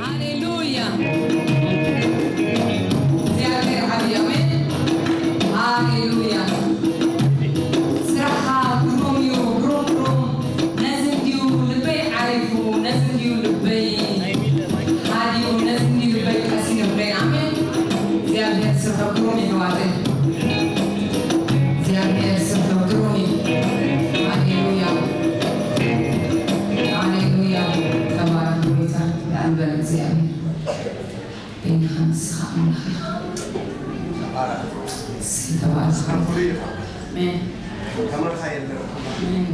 ሃሌሉያ። እግዚኣብሔር ዓብዪ፣ ኣሜን። ሃሌሉያ። ስራሕኻ ግሩም እዩ፣ ግሩም፣ ግሩም። ነዚ እንድዩ ልበይ ዓሪፉ፣ ነዚ እንድዩ ልበይ ሃዲኡ፣ ነዚ እንድዩ ልበይ ቀሲኑ። ኣሜን። እግዚኣብሔር ስርሑ ግሩም እዩ፣ ኣሕዋተይ። እግዚኣብሔር ስርሑ ግሩም እዩ። ሃሌሉያ። ሃሌሉያ። ተባረኽ ጎይታ። ልዓል በል እግዚኣብሔር። በይንኻ ንስኻ ኣምላኽ ኢኻ። እስኪ ተባረኽ ጎይታ። ኣሜን። ኣሜን።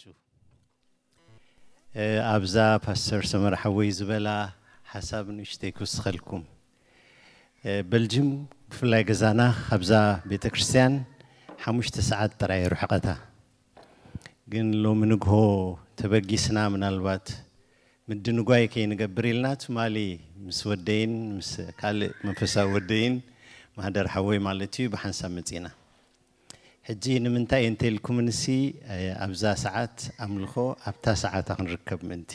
ኣላችሁ። እ፣ ኣብዛ ፓስተር ሰመረ ሓወይ ዝበላ ሓሳብ ንእሽተይ ክውስኸልኩም። እ፣ በልጅም ብፍላይ ገዛና ካብዛ ቤተ ክርስቲያን ሓሙሽተ ሰዓት ጥራይ ርሕቐታ። ግን ሎሚ ንግሆ ተበጊስና ምናልባት ምድንጓይ ከይንገብር ኢልና ትማሊ ምስ ወደይን ምስ ካልእ መንፈሳዊ ወደይን ማህደር ሓወይ ማለት እዩ ብሓንሳብ መጺና። ሕጂ ንምንታይ እንተ ኢልኩምንሲ፣ እ፣ ኣብዛ ሰዓት ኣምልኾ ኣብታ ሰዓታ ክንርከብ ምእንቲ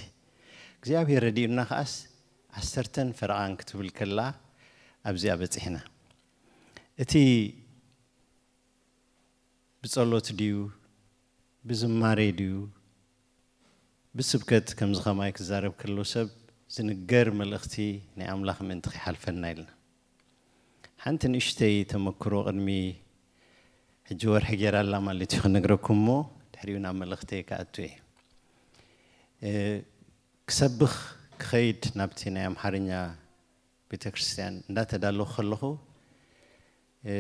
እግዚኣብሔር ረዲኡና ከኣስ ዓሰርተን ፈረቓን ክትብል ከላ ኣብዚኣ በጺሕና። እቲ ብጸሎት ድዩ ብዝማሬ ድዩ ብስብከት ከምዚ ኸማይ ክዛረብ ከሎ ሰብ ዝንገር መልእኽቲ ናይ ኣምላኽ ምእንቲ ከይሓልፈና ኢልና። ሓንቲ ንእሽተይ ተመክሮ ቅድሚ ሕጂ ወርሒ ገይራ ኣላ ማለት እዩ ክነግረኩም እሞ ድሕሪኡ ናብ መልእኽተይ ክኣቱ እየ። እ፣ ክሰብኽ ክኸይድ ናብቲ ናይ ኣምሓርኛ ቤተ ክርስቲያን እንዳተዳለኹ ከለኹ፣ እ፣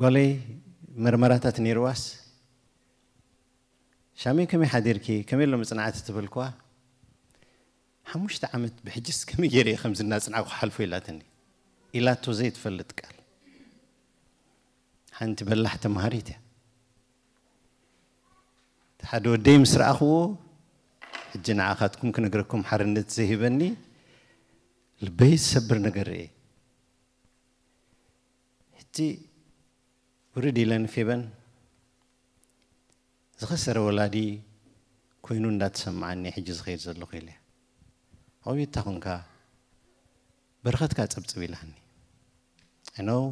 ጓለይ መርመራታት ነይርዋስ፣ "ሻመይ ከመይ ሓዲርኪ? ከመይ ኣሎ መጽናዕቲ?" ትበልክዋ። "ሓሙሽተ ዓመት ብሕጅስ ከመይ ገይረ እየ ከምዚ እናጽናዕኩ ክሓልፎ?" ኢላትኒ። ኢላቶ ዘይትፈልጥ ቃል። ሓንቲ በላሕ ተምሃሪት እያ። እቲ ሓደ ወደይ ምስ ረኣኽዎ፣ ሕጂ ንዓኻትኩም ክነግረኩም ሓርነት ዘይህበኒ፣ ልበይ ዝሰብር ነገር ርእየ። ሕጂ ውርድ ኢለን ፌበን፣ ዝኸሰረ ወላዲ ኮይኑ እንዳተሰማዓኒ ሕጂ ዝኸይድ ዘለኹ ኢለ። "ኣውይታ ኹንካ በረኸትካ ጸብጽብ" ኢላኒ። I know፣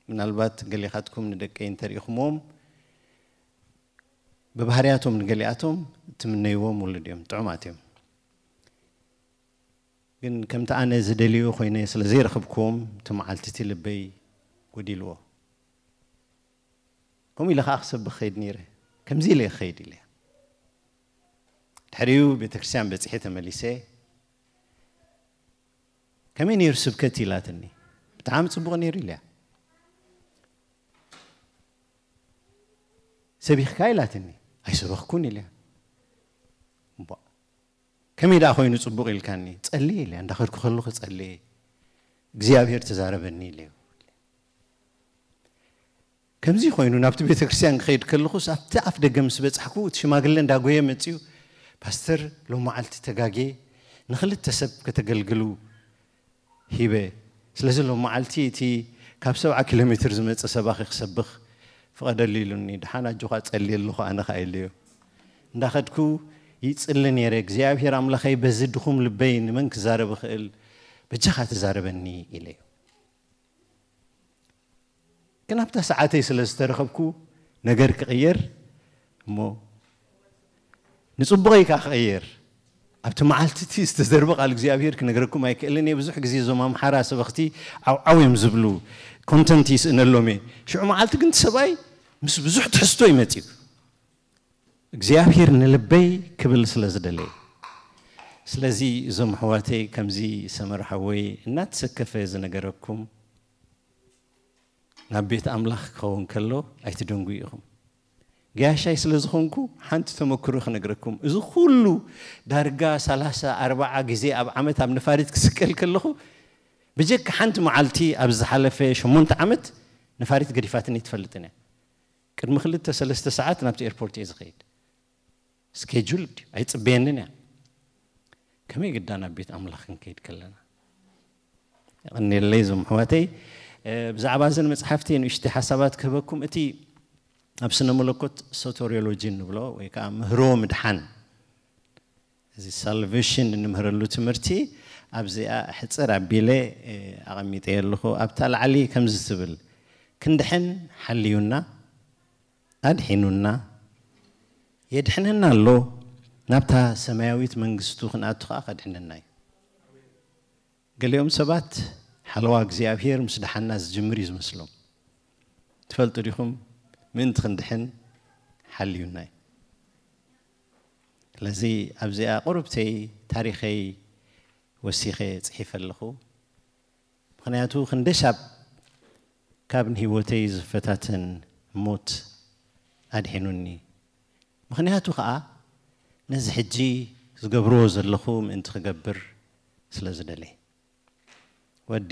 ምናልባት ገሌኻትኩም ንደቀይ እንተሪኢኹምዎም፣ ብባህርያቶም ንገሊኣቶም እትምነይዎም ውሉድ እዮም፣ ጥዑማት እዮም። ግን ከምቲ ኣነ ዝደልዮ ኮይነ ስለ ዘይረኸብክዎም፣ እቲ መዓልቲ እቲ ልበይ ጎዲልዎ። ከምኡ ኢለ ኸዓ ክሰብኽ ኸይድ ነይረ። ከምዚ ኢለ ክኸይድ ኢለ። ድሕሪኡ ቤተ ክርስቲያን በጺሐ ተመሊሰ። "ከመይ ነይሩ ስብከት?" ኢላትኒ። "ብጣዕሚ ጽቡቕ ነይሩ" ኢለያ። "ሰቢኽካ?" ኢላትኒ። "ኣይሰበኽኩን" ኢለያ። "እምቧእ፣ ከመይ ደኣ ኮይኑ ጽቡቕ ኢልካኒ?" "ጸልየ" ኢለያ። እንዳኸድኩ ከለኹ ጸልየ። "እግዚኣብሔር ተዛረበኒ" ኢለዮ። ከምዚ ኮይኑ ናብቲ ቤተ ክርስቲያን ክኸይድ ከለኹስ፣ ኣብቲ ኣፍ ደገ ምስ በጻሕኩ፣ እቲ ሽማግለ እንዳጎየ መጺኡ፣ "ፓስተር፣ ሎም መዓልቲ ተጋግየ፣ ንኽልተ ሰብ ከተገልግሉ ሂበ። ስለዚ ሎም መዓልቲ እቲ ካብ ሰብዓ ኪሎ ሜትር ዝመጸ ሰባኺ ክሰብኽ ፍቐደሉ" ኢሉኒ። "ደሓን ኣጆኻ ጸልየ ኣለኹ ኣነ ኸኣ" ኢለዮ። እንዳኸድኩ ይጽሊ ነይረ። "እግዚኣብሔር ኣምላኸይ፣ በዚ ድኹም ልበይ ንመን ክዛረብ እኽእል? በጃኻ ተዛረበኒ" ኢለዮ። ግን ኣብታ ሰዓተይ ስለ ዝተረኸብኩ ነገር ክቕየር እሞ ንጽቡቐይ ከኣ ክቕየር፣ ኣብቲ መዓልቲ እቲ ዝተዘርበ ቃል እግዚኣብሔር ክነግረኩም ኣይክእልን እየ። ብዙሕ ግዜ እዞም ኣምሓራ ሰበኽቲ ዓውዓው እዮም ዝብሉ፣ ኮንተንት ይስእነሎም እየ። ሽዑ መዓልቲ ግን እቲ ሰብኣይ ምስ ብዙሕ ትሕዝቶ እዩ መጺኡ። እግዚኣብሔር ንልበይ ክብል ስለ ዝደለየ። ስለዚ እዞም ኣሕዋተይ፣ ከምዚ ሰመረ ሓወይ እናተሰከፈ ዝነገረኩም፣ ናብ ቤት ኣምላኽ ክኸውን ከሎ ኣይትደንጉዩ ኢኹም። ገያሻይ ስለ ዝኾንኩ ሓንቲ ተመክሮ ክነግረኩም። እዚ ኩሉ ዳርጋ ሰላሳ ኣርባዓ ግዜ ኣብ ዓመት ኣብ ነፋሪት ክስቀል ከለኹ፣ ብጀካ ሓንቲ መዓልቲ ኣብ ዝሓለፈ ሸሞንተ ዓመት ነፋሪት ገዲፋትኒ ትፈልጥን እያ። ቅድሚ ክልተ ሰለስተ ሰዓት ናብቲ ኤርፖርት እየ ዝኸይድ። ስኬጁል ድዩ? ኣይጽበየንን እያ። ከመይ ግዳ ናብ ቤት ኣምላኽ ክንከይድ ከለና? የቐንየለይ እዞም ኣሕዋተይ። እ፣ ብዛዕባ እዘን መጽሓፍቲ ንእሽተይ ሓሳባት ክህበኩም። እቲ ኣብ ስነ መለኮት ሶተሪዮሎጂ እንብሎ ወይ ከኣ ምህሮ ምድሓን፣ እዚ ሳልቬሽን እንምህረሉ ትምህርቲ ኣብዚኣ ሕጽር ኣቢለ፣ እ፣ ኣቐሚጠዮ ኣለኹ። ኣብታ ላዕሊ ከምዚ ትብል፣ ክንድሕን ሓልዩና፣ ኣድሒኑና፣ የድሕነና ኣሎ፣ ናብታ ሰማያዊት መንግስቱ ክንኣቱ ከኣ ከድሕነና እዩ። ገሊኦም ሰባት ሓለዋ እግዚኣብሔር ምስ ደሓና ዝጅምር እዩ ዝመስሎም። ትፈልጡ ዲኹም? ምእንቲ ክንድሕን ሓልዩና እዩ። ስለዚ ኣብዚኣ ቁሩብተይ ታሪኸይ ወሲኸ ጽሒፈ ኣለኹ። ምኽንያቱ ክንደሻብ ካብ ንህይወተይ ዝፈታተን ሞት ኣድሒኑኒ። ምኽንያቱ ኸኣ ነዚ ሕጂ ዝገብርዎ ዘለኹ ምእንቲ ክገብር ስለ ዝደለየ። ወዲ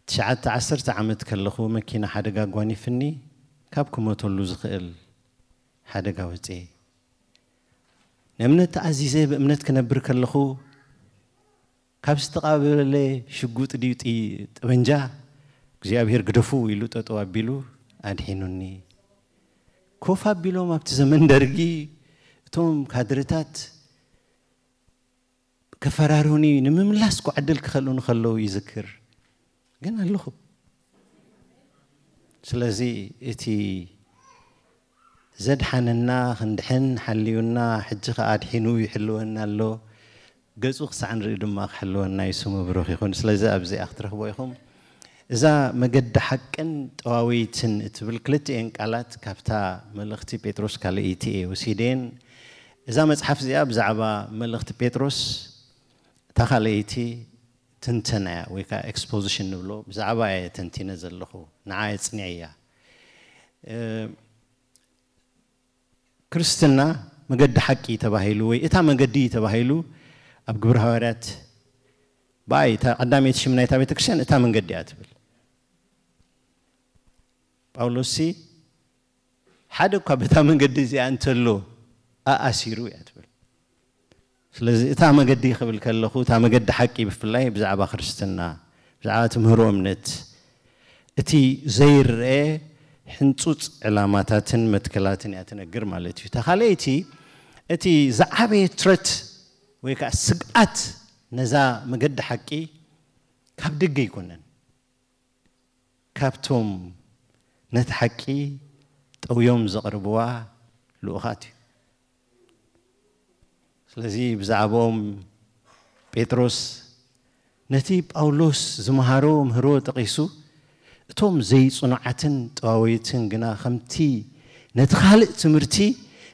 ትሽዓተ ዓሰርተ ዓመት ከለኹ መኪና ሓደጋ ኣጓኒፍኒ፣ ካብ ክሞተሉ ዝኽእል ሓደጋ ወፅየ። ንእምነት ተኣዚዘ ብእምነት ክነብር ከለኹ ካብ ዝተቓበለ ሽጉጥ ድዩ ጥይ- ጠበንጃ እግዚኣብሔር ግደፉ ኢሉ ጠጠው ኣቢሉ ኣድሒኑኒ። ኮፍ ኣቢሎም ኣብቲ ዘመን ደርጊ እቶም ካድርታት ከፈራሩኒ ንምምላስ እኮ ዕድል ክኸልኡኒ ከለዉ ይዝክር። ግን ኣለኹ። ስለዚ እቲ ዘድሓነና ክንድሕን ሓልዩና ሕጂ ከኣ ኣድሒኑ ይሕልወና ኣሎ። ገጹ ክሳዕ ንርኢ ድማ ክሕልወና እዩ። ስሙ ብሩኽ ይኹን። ስለዚ ኣብዚኣ ክትረኽቦ ኢኹም። እዛ መገዲ ሓቅን ጠዋዊትን እትብል ክልቲኤን ቃላት ካብታ መልእኽቲ ጴጥሮስ ካልኣይቲ እየ ወሲደየን። እዛ መጽሓፍ እዚኣ ብዛዕባ መልእኽቲ ጴጥሮስ እታ ካልኣይቲ ትንተና እያ ወይ ከዓ ኤክስፖዚሽን ንብሎ፣ ብዛዕባ እየ ተንቲነ ዘለኹ፣ ንዓ እየ ጽኒዐያ። እ፣ ክርስትና መገዲ ሓቂ ተባሂሉ ወይ እታ መገዲ ተባሂሉ ኣብ ግብረ ሃዋርያት ብኣይ እታ ቀዳመይቲ ሽም ናይታ ቤተክርስትያን እታ መንገዲ እያ ትብል። ጳውሎስ ሲ ሓደ እኳ በታ መንገዲ እዚኣ እንተሎ ኣኣሲሩ እያ ትብል። ስለዚ እታ መገዲ ክብል ከለኹ እታ መገዲ ሓቂ ብፍላይ ብዛዕባ ክርስትና ብዛዕባ ትምህሮ እምነት እቲ ዘይረአ ሕንጹጽ ዕላማታትን መትከላትን እያ ትነግር ማለት እዩ። እታ ካልኣይቲ እቲ ዝዓበየ ትረት ወይ ከዓ ስግኣት ነዛ መገዲ ሓቂ ካብ ደገ ኣይኮነን፣ ካብቶም ነቲ ሓቂ ጠውዮም ዘቕርብዋ ልኡኻት እዩ። ስለዚ ብዛዕባኦም ጴጥሮስ ነቲ ጳውሎስ ዝመሃሮ ምህሮ ጠቒሱ፣ እቶም ዘይጽኑዓትን ጠዋወይትን ግና ከምቲ ነቲ ካልእ ትምህርቲ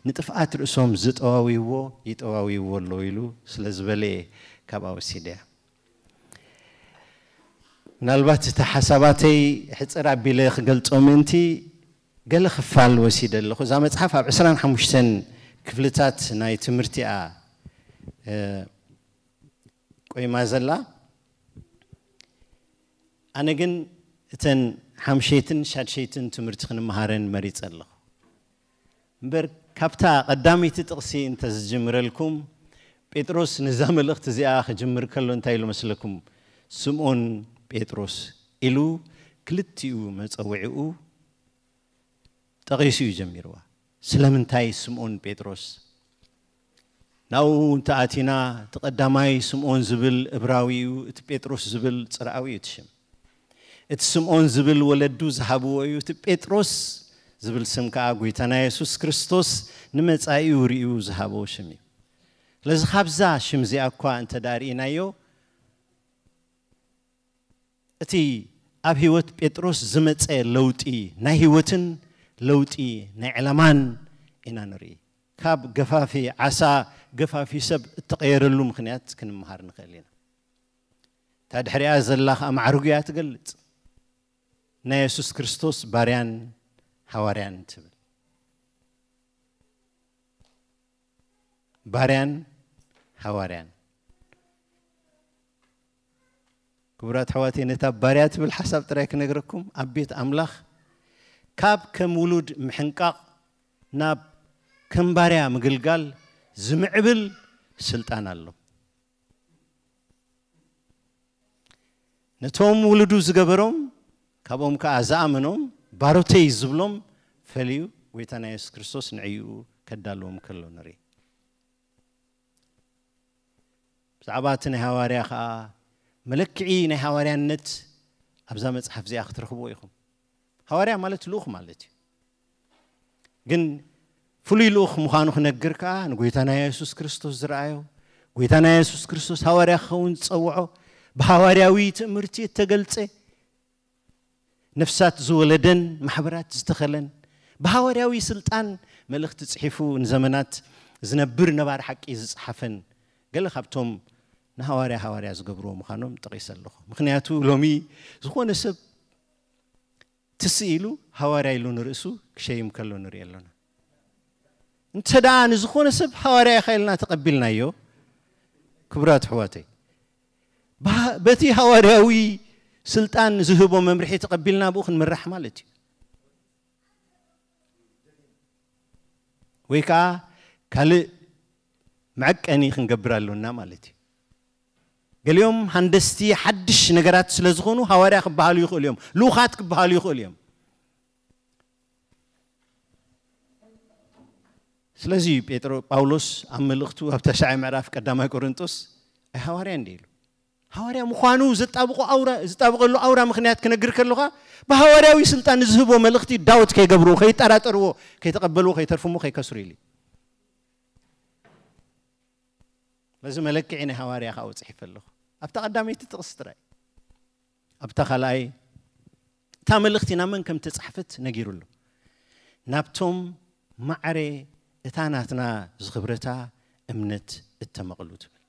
ንጥፍኣት ርእሶም ዝጠዋውይዎ ይጠዋውይዎ ኣሎ ኢሉ ስለ ዝበለ እየ ካብኣ ወሲደያ። ምናልባት እቲ ሓሳባተይ ሕፅር ኣቢለ ክገልጾ ምእንቲ ገለ ክፋል ወሲደ ኣለኹ። እዛ መፅሓፍ ኣብ ዕስራን ሓሙሽተን ክፍልታት ናይ ትምህርቲኣ ቆይማ ዘላ። ኣነ ግን እተን ሓምሸይትን ሻድሸይትን ትምህርቲ ክንመሃረን መሪፀ ኣለኹ። እምበር ካብታ ቀዳመይቲ ጥቕሲ እንተዝጅምረልኩም፣ ጴጥሮስ ነዛ መልእኽቲ እዚኣ ክጅምር ከሎ እንታይ ኢሉ መስለኩም? ስምዖን ጴጥሮስ ኢሉ ክልቲኡ መጸውዒኡ ጠቒሱ እዩ ጀሚርዋ። ስለምንታይ ስምዖን ጴጥሮስ? ናብኡ እንተኣቲና፣ እቲ ቀዳማይ ስምዖን ዝብል እብራዊ እዩ፣ እቲ ጴጥሮስ ዝብል ጽርኣዊ እዩ እቲ ሽም። እቲ ስምዖን ዝብል ወለዱ ዝሃብዎ እዩ፣ እቲ ጴጥሮስ ዝብል ስም ከኣ ጐይታና የሱስ ክርስቶስ ንመጻኢኡ ርእዩ ዝሃቦ ሽም እዩ። ስለዚ ካብዛ ሽም እዚኣ እኳ እንተ ደኣ ርኢናዮ፣ እቲ ኣብ ህይወት ጴጥሮስ ዝመጸ ለውጢ ናይ ህይወትን ለውጢ ናይ ዕላማን ኢና ንርኢ። ካብ ገፋፊ ዓሳ ገፋፊ ሰብ እተቐየረሉ ምኽንያት ክንመሃር ንኽእል ኢና። እታ ድሕሪኣ ዘላ ኸኣ ማዕርጉ እያ ትገልጽ። ናይ የሱስ ክርስቶስ ባርያን ሃዋርያን ትብል። ባርያን ሃዋርያን። ክቡራት ኣሕዋተይ፣ ነታ ባርያ ትብል ሓሳብ ጥራይ ክነግረኩም፣ ኣብ ቤት ኣምላኽ ካብ ከም ውሉድ ምሕንቃቕ ናብ ከም ባርያ ምግልጋል ዝምዕብል ስልጣን ኣሎ። ነቶም ውሉዱ ዝገበሮም፣ ካብኦም ከኣ ዝኣመኖም፣ ባሮተይ ዝብሎም ፈልዩ፣ ጐይታና የሱስ ክርስቶስ ንዕኡ ከዳልዎም ከሎ ንርኢ። ብዛዕባ እቲ ናይ ሃዋርያ ኸኣ፣ መለክዒ ናይ ሃዋርያነት ኣብዛ መጽሓፍ እዚኣ ክትረኽብዎ ኢኹም። ሃዋርያ ማለት ልኡኽ ማለት እዩ። ግን ፍሉይ ልኡኽ ምዃኑ ክነግር ከኣ፣ ንጐይታና የሱስ ክርስቶስ ዝረኣዮ፣ ጐይታና የሱስ ክርስቶስ ሃዋርያ ክኸውን ዝጸውዖ፣ ብሃዋርያዊ ትእምርቲ እተገልጸ፣ ነፍሳት ዝወለደን ማሕበራት ዝተኸለን፣ ብሃዋርያዊ ስልጣን መልእኽቲ ጽሒፉ ንዘመናት ዝነብር ነባሪ ሓቂ ዝጸሓፈን፣ ገለ ካብቶም ንሃዋርያ ሃዋርያ ዝገብርዎ ምዃኖም ጠቒሰ ኣለኹ። ምኽንያቱ ሎሚ ዝኾነ ሰብ ትስእ ኢሉ ሃዋርያ ኢሉ ንርእሱ ክሸይም ከሎ ንርኢ ኣለና። እንተ ደኣ ንዝኾነ ሰብ ሃዋርያ ኢኻ ኢልና ተቐቢልናዮ፣ ክቡራት ኣሕዋተይ፣ በቲ ሃዋርያዊ ስልጣን ዝህቦ መምርሒ ተቐቢልና ብኡ ክንምራሕ ማለት እዩ። ወይ ከዓ ካልእ መዐቀኒ ክንገብር ኣሎና ማለት እዩ። ገሊኦም ሃንደስቲ ሓድሽ ነገራት ስለ ዝኾኑ ሃዋርያ ክበሃሉ ይኽእሉ እዮም፣ ልኡኻት ክበሃሉ ይኽእሉ እዮም። ስለዚ እዩ ጴጥሮ ጳውሎስ ኣብ መልእኽቱ ኣብ ተሻዓይ ምዕራፍ ቀዳማይ ቆሮንጦስ ኣይ ሃዋርያ እንዲ ኢሉ። ሃዋርያ ምዃኑ ዘጣብቆ ኣውራ፣ ዝጣብቀሉ ኣውራ ምኽንያት ክነግር ከለኻ ብሃዋርያዊ ስልጣን ዝህቦ መልእኽቲ ዳውት ከይገብርዎ፣ ከይጠራጠርዎ፣ ከይተቐበልዎ፣ ከይተርፍሞ፣ ከይከስሩ ኢሉ። በዚ መለክዒ ናይ ሃዋርያ ከዓ ውፅሕ ይፈለኹ ኣብታ ቀዳመይቲ ጥቕስ ጥራይ። ኣብታ ካልኣይ እታ መልእኽቲ ናብ መን ከም ተጻሕፈት ነጊሩ ኣሎ። ናብቶም ማዕረ እታ ናትና ዝኽብረታ እምነት እተመቕሉ ትብል።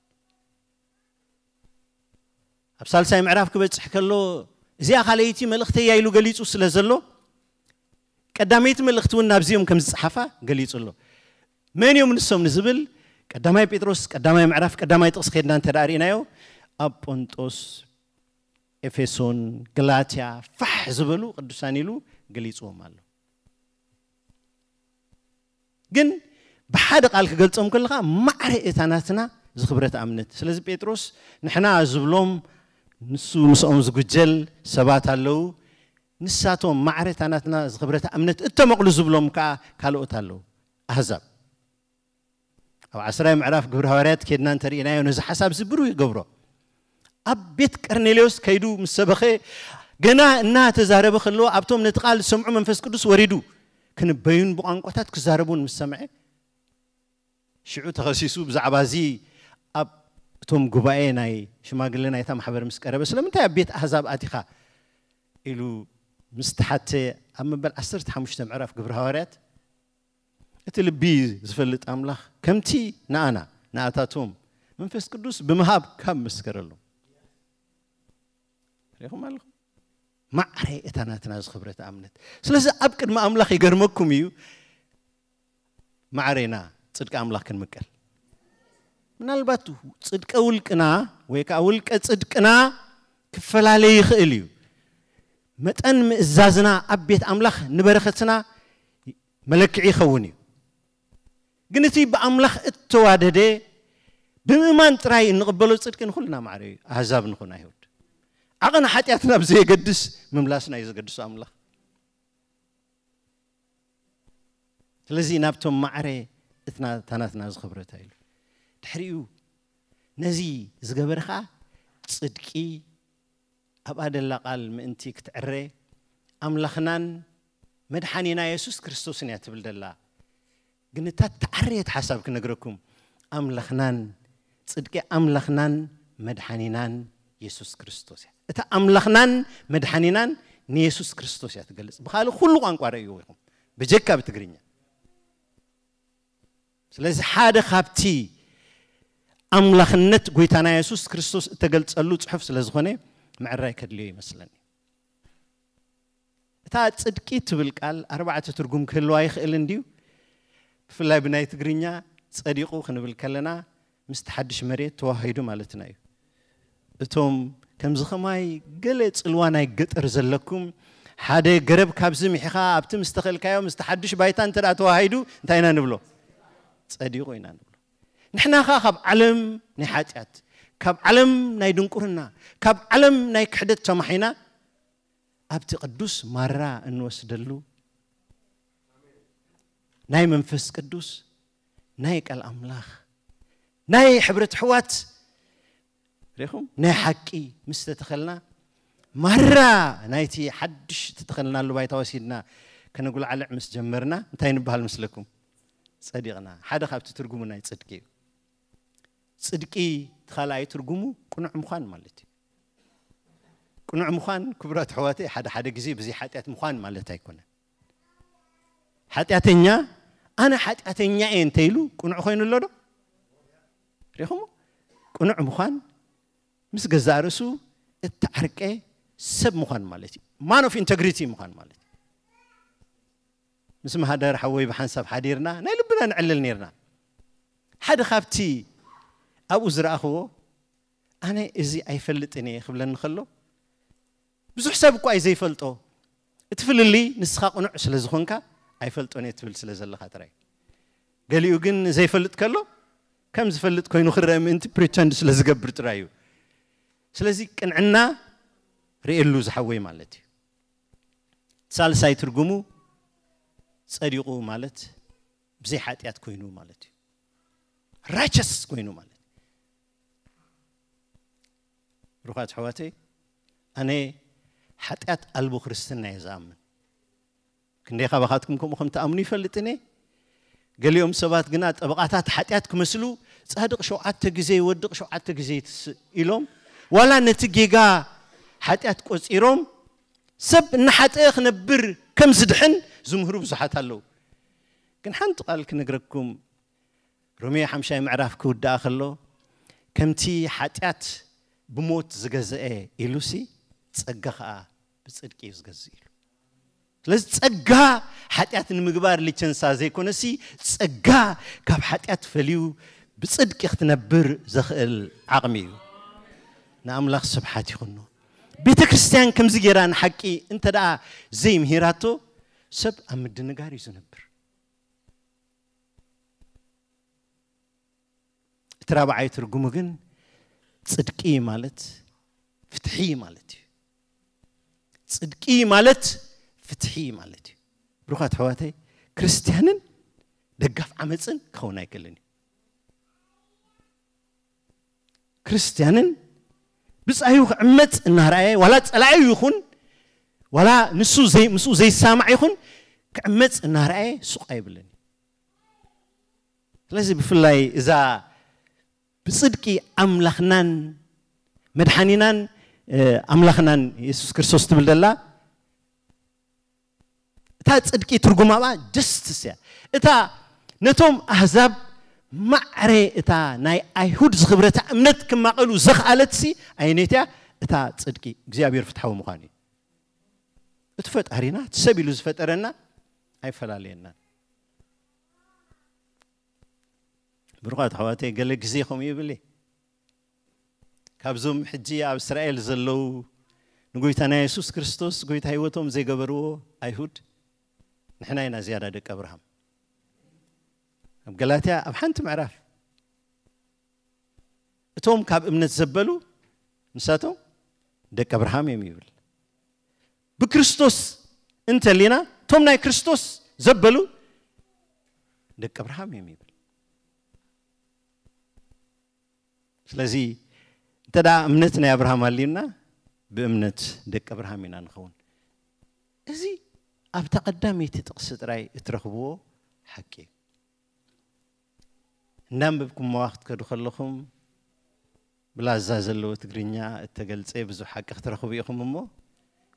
ኣብ ሳልሳይ ምዕራፍ ክበጽሕ ከሎ እዚኣ ካልኣይቲ መልእኽተያ ኢሉ ገሊጹ ስለ ዘሎ ቀዳመይቲ መልእኽቲ እውን ናብዚኦም ከም ዝጸሓፋ ገሊጹ ኣሎ። መን እዮም ንሶም ንዝብል ቀዳማይ ጴጥሮስ ቀዳማይ ምዕራፍ ቀዳማይ ጥቕስ ከድና እንተ ደኣ ርኢናዮ ኣብ ጶንጦስ፣ ኤፌሶን፣ ገላትያ ፋሕ ዝበሉ ቅዱሳን ኢሉ ገሊጽዎም ኣሎ። ግን ብሓደ ቃል ክገልጾም ከለኻ ማዕረ እታ ናትና ዝኽብረት እምነት። ስለዚ ጴጥሮስ ንሕና ዝብሎም ንሱ ምስኦም ዝጉጀል ሰባት ኣለዉ። ንሳቶም ማዕረ እታ ናትና ዝኽብረት እምነት እተመቕሉ ዝብሎም ከኣ ካልኦት ኣለዉ። ኣህዛብ ኣብ ዓስራይ ምዕራፍ ግብሪ ሃዋርያት ኬድና እንተርኢናዮ ነዚ ሓሳብ እዚ ብሩህ ይገብሮ። ኣብ ቤት ቀርኔሌዎስ ከይዱ ምስ ሰበኸ ገና እናተዛረበ ከለዎ ኣብቶም ነቲ ቃል ዝሰምዑ መንፈስ ቅዱስ ወሪዱ ክንበዩን ብቋንቋታት ክዛረቡን ምስ ሰምዐ ሽዑ ተኸሲሱ ብዛዕባ እዚ ኣብ እቶም ጉባኤ ናይ ሽማግለ ናይታ ማሕበር ምስ ቀረበ ስለምንታይ ኣብ ቤት ኣህዛብ ኣቲኻ ኢሉ ምስ ተሓተ ኣብ መበል ዓሰርተ ሓሙሽተ ምዕራፍ ግብሪ ሃዋርያት እቲ ልቢ ዝፈልጥ ኣምላኽ ከምቲ ንኣና ንኣታቶም መንፈስ ቅዱስ ብምሃብ ካብ መስከረሎም ሪኹም ኣለኹም ማዕረ እታ ናትና ዝኽብረት እምነት ስለዚ ኣብ ቅድሚ ኣምላኽ ይገርመኩም እዩ ማዕሬና ጽድቂ ኣምላኽ ክንምቀል ምናልባት ጽድቀ ውልቅና ወይ ከዓ ውልቀ ጽድቅና ክፈላለ ይኽእል እዩ መጠን ምእዛዝና ኣብ ቤት ኣምላኽ ንበረኸትና መለክዒ ይኸውን እዩ ግን እቲ ብኣምላኽ እተዋደደ ብምእማን ጥራይ እንቕበሎ ጽድቂ ንኹልና ማዕረ እዩ ኣህዛብ ንኹን ኣይሁድ ዓቐን ሓጢኣትና ብዘየገድስ ምምላስና እዩ ዘገድሶ ኣምላኽ ስለዚ ናብቶም ማዕረ እትና ታናትና ዝኽብረታ ኢሉ ድሕሪኡ ነዚ ዝገበረ ኸዓ ጽድቂ ኣብኣ ደላ ቃል ምእንቲ ክትዕረ ኣምላኽናን መድሓኒና የሱስ ክርስቶስን እያ ትብል ደላ ግን እታ ተዓረየት ሓሳብ ክነግረኩም ኣምላኽናን ጽድቂ ኣምላኽናን መድሓኒናን የሱስ ክርስቶስ እያ እታ ኣምላኽናን መድሓኒናን ንየሱስ ክርስቶስ እያ ትገልጽ ብኻልእ ኩሉ ቋንቋ ረእይዎ ኢኹም ብጀካ ብትግርኛ ስለዚ ሓደ ካብቲ ኣምላኽነት ጎይታና የሱስ ክርስቶስ እተገልጸሉ ጽሑፍ ስለ ዝኾነ ምዕራይ ከድልዮ ይመስለኒ እታ ጽድቂ ትብል ቃል ኣርባዕተ ትርጉም ክህልዋ ይኽእል እንድዩ ብፍላይ ብናይ ትግርኛ ጸዲቑ ክንብል ከለና ምስቲ ሓድሽ መሬት ተዋሂዱ ማለትና እዩ እቶም ከምዚ ኸማይ ገለ ጽልዋ ናይ ገጠር ዘለኩም ሓደ ገረብ ካብዚ ምሒኻ ኣብቲ ምስ ተኸልካዮ ምስቲ ሓድሽ ባይታ እንተ ደኣ ተዋሂዱ እንታይ ኢና ንብሎ ጸዲቑ ኢና ንብሎ ንሕና ኸዓ ካብ ዓለም ናይ ሓጢኣት ካብ ዓለም ናይ ድንቁርና ካብ ዓለም ናይ ክሕደት ተማሒና ኣብቲ ቅዱስ ማራ እንወስደሉ ናይ መንፈስ ቅዱስ ናይ ቃል ኣምላኽ ናይ ሕብረት ኣሕዋት ሪኹም ናይ ሓቂ ምስ ተተኸልና ማራ ናይቲ ሓድሽ ተተኸልናሉ ባይታ ወሲድና ከነጉልዓልዕ ምስ ጀመርና እንታይ ንበሃል ምስለኩም ጸዲቕና ሓደ ካብቲ ትርጉሙ ናይ ጽድቂ እዩ ጽድቂ እቲ ካልኣይ ትርጉሙ ቅኑዕ ምዃን ማለት እዩ ቅኑዕ ምዃን ክቡራት ኣሕዋተይ ሓደ ሓደ ግዜ ብዘይ ሓጢኣት ምዃን ማለት ኣይኮነን ሓጢኣተኛ ኣነ ሓጢኣተኛ እየ እንተ ኢሉ ቅኑዕ ኮይኑ ኣሎ ዶ ሪኹም ቅኑዕ ምዃን ምስ ገዛእ ርእሱ እተዓርቀ ሰብ ምዃን ማለት እዩ man of integrity ምዃን ማለት እዩ ምስ ማህደር ሓወይ ብሓንሳብ ሓዲርና ናይ ልብና ንዕልል ነርና። ሓደ ካብቲ ኣብኡ ዝረኣኽዎ፣ ኣነ እዚ ኣይፈልጥን እየ ክብለኒ ከሎ፣ ብዙሕ ሰብ እኳ እዩ ዘይፈልጦ። እቲ ፍልልይ ንስኻ ቅኑዕ ስለ ዝኾንካ ኣይፈልጦን እየ ትብል ስለ ዘለኻ ጥራይ። ገሊኡ ግን ዘይፈልጥ ከሎ ከም ዝፈልጥ ኮይኑ ክረአ ምእንቲ ፕሪተንድ ስለ ዝገብር ጥራይ እዩ። ስለዚ ቅንዕና ርእየሉ ዝሓወይ ማለት እዩ። ሳልሳይ ትርጉሙ ጸዲቑ ማለት ብዘይ ሓጢኣት ኮይኑ ማለት እዩ። ራይቸስ ኮይኑ ማለት እዩ። ብሩኻት ኣሕዋተይ፣ ኣነ ሓጢኣት ኣልቦ ክርስትና እየ ዝኣምን። ክንደይ ካባኻትኩም ከምኡ ከም ትኣምኑ ይፈልጥን እየ። ገሊኦም ሰባት ግና ጠበቓታት ሓጢኣት ክመስሉ፣ ጻድቕ ሸውዓተ ግዜ ይወድቕ፣ ሸውዓተ ግዜ ይትስእ ኢሎም፣ ዋላ ነቲ ጌጋ ሓጢኣት ቆጺሮም፣ ሰብ እናሓጠ ክነብር ከም ዝድሕን ዝምህሩ ብዙሓት ኣለዉ። ግን ሓንቲ ቃል ክነግረኩም፣ ሮሜ ሓምሻይ ምዕራፍ ክውድኣ ከሎ፣ ከምቲ ሓጢኣት ብሞት ዝገዝአ ኢሉሲ፣ ጸጋ ኸኣ ብጽድቂ እዩ ዝገዝእ ኢሉ። ስለዚ ጸጋ ሓጢኣት ንምግባር ሊቸንሳ ዘይኮነሲ፣ ጸጋ ካብ ሓጢኣት ፈልዩ ብጽድቂ ክትነብር ዘኽእል ዓቕሚ እዩ። ንኣምላኽ ስብሓት ይኹኖ። ቤተ ክርስቲያን ከምዚ ጌራ ንሓቂ እንተ ደኣ ዘይምሂራቶ፣ ሰብ ኣብ ምድንጋር እዩ ዝነብር። እቲ ራብዓይ ትርጉሙ ግን ጽድቂ ማለት ፍትሒ ማለት እዩ። ጽድቂ ማለት ፍትሒ ማለት እዩ። ብሩኻት ኣሕዋተይ፣ ክርስትያንን ደጋፍ ዓመፅን ክኸውን ኣይክእልን እዩ። ክርስትያንን ብጻዩ ክዕመፅ እናረኣየ፣ ዋላ ጸላዩ ይኹን፣ ዋላ ንሱ ዘይ-፣ ምስኡ ዘይሳማዕ ይኹን፣ ክዕመፅ እናረኣየ ሱቕ ኣይብልን እዩ። ስለዚ ብፍላይ እዛ ብጽድቂ ኣምላኽናን መድሓኒናን፣ እ፣ ኣምላኽናን የሱስ ክርስቶስ ትብል ዘላ፣ እታ ጽድቂ ትርጉማ ብኣ ጀስትስ እያ። እታ ነቶም ኣህዛብ ማዕረ እታ ናይ ኣይሁድ ዝኽብረታ እምነት ክማቐሉ ዘኽኣለትሲ ኣየነይቲ እያ? እታ ጽድቂ እግዚኣብሔር ፍትሓዊ ምዃኑ እዩ። እቲ ፈጣሪና፣ እቲ ሰብ ኢሉ ዝፈጠረና ኣይፈላለየናን። ብሩኻት ኣሕዋተይ፣ ገለ ግዜ ከምኡ ይብል እየ። ካብዞም ሕጂ ኣብ እስራኤል ዘለዉ ንጎይታና የሱስ ክርስቶስ ጎይታ ህይወቶም ዘይገበርዎ ኣይሁድ፣ ንሕና ኢና ዝያዳ ደቂ ኣብርሃም። ኣብ ገላትያ ኣብ ሓንቲ ምዕራፍ እቶም ካብ እምነት ዘበሉ ንሳቶም ደቂ ኣብርሃም እዮም ይብል። ብክርስቶስ እንተሊና፣ እቶም ናይ ክርስቶስ ዘበሉ ደቂ ኣብርሃም እዮም ይብል። ስለዚ እንተ ደኣ እምነት ናይ ኣብርሃም ኣልዩና፣ ብእምነት ደቂ ኣብርሃም ኢና ንኸውን። እዚ ኣብታ ቀዳመይቲ ጥቕሲ ጥራይ እትረኽብዎ ሓቂ እዩ። እንዳንበብኩምዋ ክትከዱ ከለኹም፣ ብላዛ ዘለዎ ትግርኛ እተገልጸ ብዙሕ ሓቂ ክትረኽቡ ኢኹም እሞ፣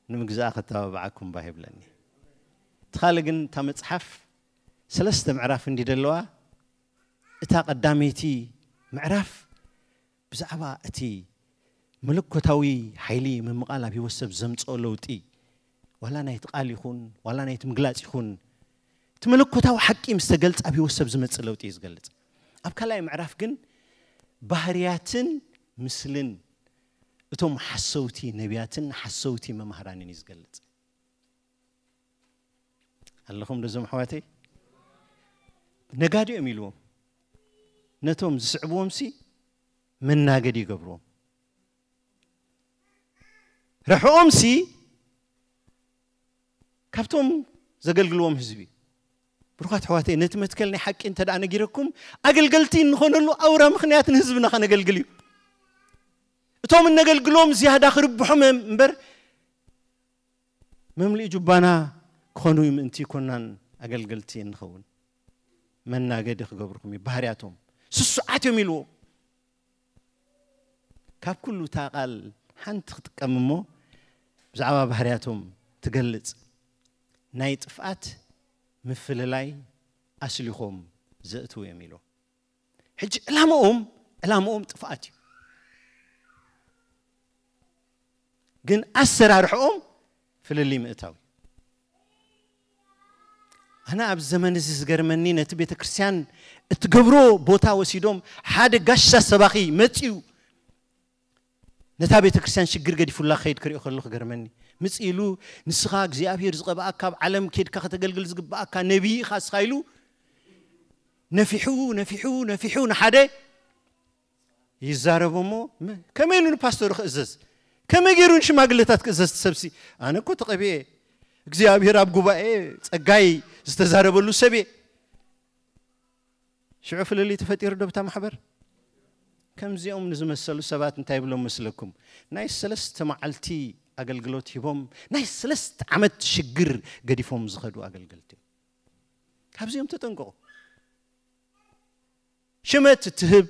ንምግዛኣ ከተባብዓኩም ባህ ይብለኒ። እቲ ካልእ ግን፣ እታ መጽሓፍ ሰለስተ ምዕራፍ እንዲ ደለዋ፣ እታ ቀዳመይቲ ምዕራፍ ብዛዕባ እቲ መለኮታዊ ሓይሊ ምምቓል ኣብ ህይወት ሰብ ዘምጽኦ ለውጢ፣ ዋላ ናይቲ ቃል ይኹን፣ ዋላ ናይቲ ምግላጽ ይኹን፣ እቲ መለኮታዊ ሓቂ ምስ ተገልጸ ኣብ ህይወት ሰብ ዝመጽእ ለውጢ እዩ ዝገልጽ። ኣብ ካልኣይ ምዕራፍ ግን ባህርያትን ምስልን እቶም ሓሰውቲ ነቢያትን ሓሰውቲ መማህራንን እዩ ዝገልጽ። ኣለኹም ዶ እዞም ኣሕዋተይ? ነጋዲኦም ኢልዎም። ነቶም ዝስዕብዎም ሲ መናገዲ ይገብርዎም። ረሕኦም ሲ ካብቶም ዘገልግልዎም ህዝቢ። ብሩኻት ኣሕዋተይ፣ ነቲ መትከል ናይ ሓቂ እንተ ደኣ ነጊረኩም፣ ኣገልገልቲ እንኾነሉ ኣውራ ምኽንያት ንህዝብና ከነገልግል እዩ። እቶም እነገልግሎም ዝያዳ ክርብሖም እምበር፣ መምልኢ ጁባና ክኾኑ ምእንቲ ይኮናን ኣገልገልቲ እንኸውን። መናገዲ ክገብርኩም እዩ፣ ባህርያቶም ስሱዓት እዮም ኢልዎም። ካብ ኩሉ እታ ቃል ሓንቲ ክጥቀም እሞ፣ ብዛዕባ ባህርያቶም ትገልጽ። ናይ ጥፍኣት ምፍልላይ ኣስሊኾም ዘእትዉ እዮም ኢልዎም። ሕጂ ዕላምኦም፣ ዕላምኦም ጥፍኣት እዩ። ግን ኣሰራርሕኦም ፍልልይ ምእታው እዩ። ኣነ ኣብ ዘመን እዚ ዝገርመኒ፣ ነቲ ቤተ ክርስቲያን እትገብሮ ቦታ ወሲዶም፣ ሓደ ጋሻ ሰባኺ መጺኡ ነታ ቤተ ክርስቲያን ሽግር ገዲፉላ ክኸይድ ክሪኦ ከሎ ክገርመኒ። ምጽእ ኢሉ፣ "ንስኻ እግዚኣብሔር ዝቐብኣካ፣ ኣብ ዓለም ኬድካ ከተገልግል ዝግብኣካ ነቢይ ኢኻ እስኻ" ኢሉ ነፊሑ፣ ነፊሑ፣ ነፊሑ ንሓደ ይዛረቦ እሞ፣ መ-፣ ከመይ ኢሉ ንፓስተሩ ክእዘዝ? ከመይ ገይሩ ንሽማግለታት ክእዘዝ? እቲ ሰብሲ፣ "ኣነ እኮ ተቐቢኤ፣ እግዚኣብሔር ኣብ ጉባኤ ጸጋይ ዝተዛረበሉ ሰብ እየ።" ሽዑ ፍልልይ ተፈጢሩ ዶ ብታ ማሕበር? ከምዚኦም ንዝመሰሉ ሰባት እንታይ ይብሎም መስለኩም? ናይ ሰለስተ መዓልቲ ኣገልግሎት ሂቦም፣ ናይ ሰለስተ ዓመት ሽግር ገዲፎም ዝኸዱ ኣገልገልቲ እዮም። ካብዚኦም ተጠንቀቑ። ሽመት እትህብ፣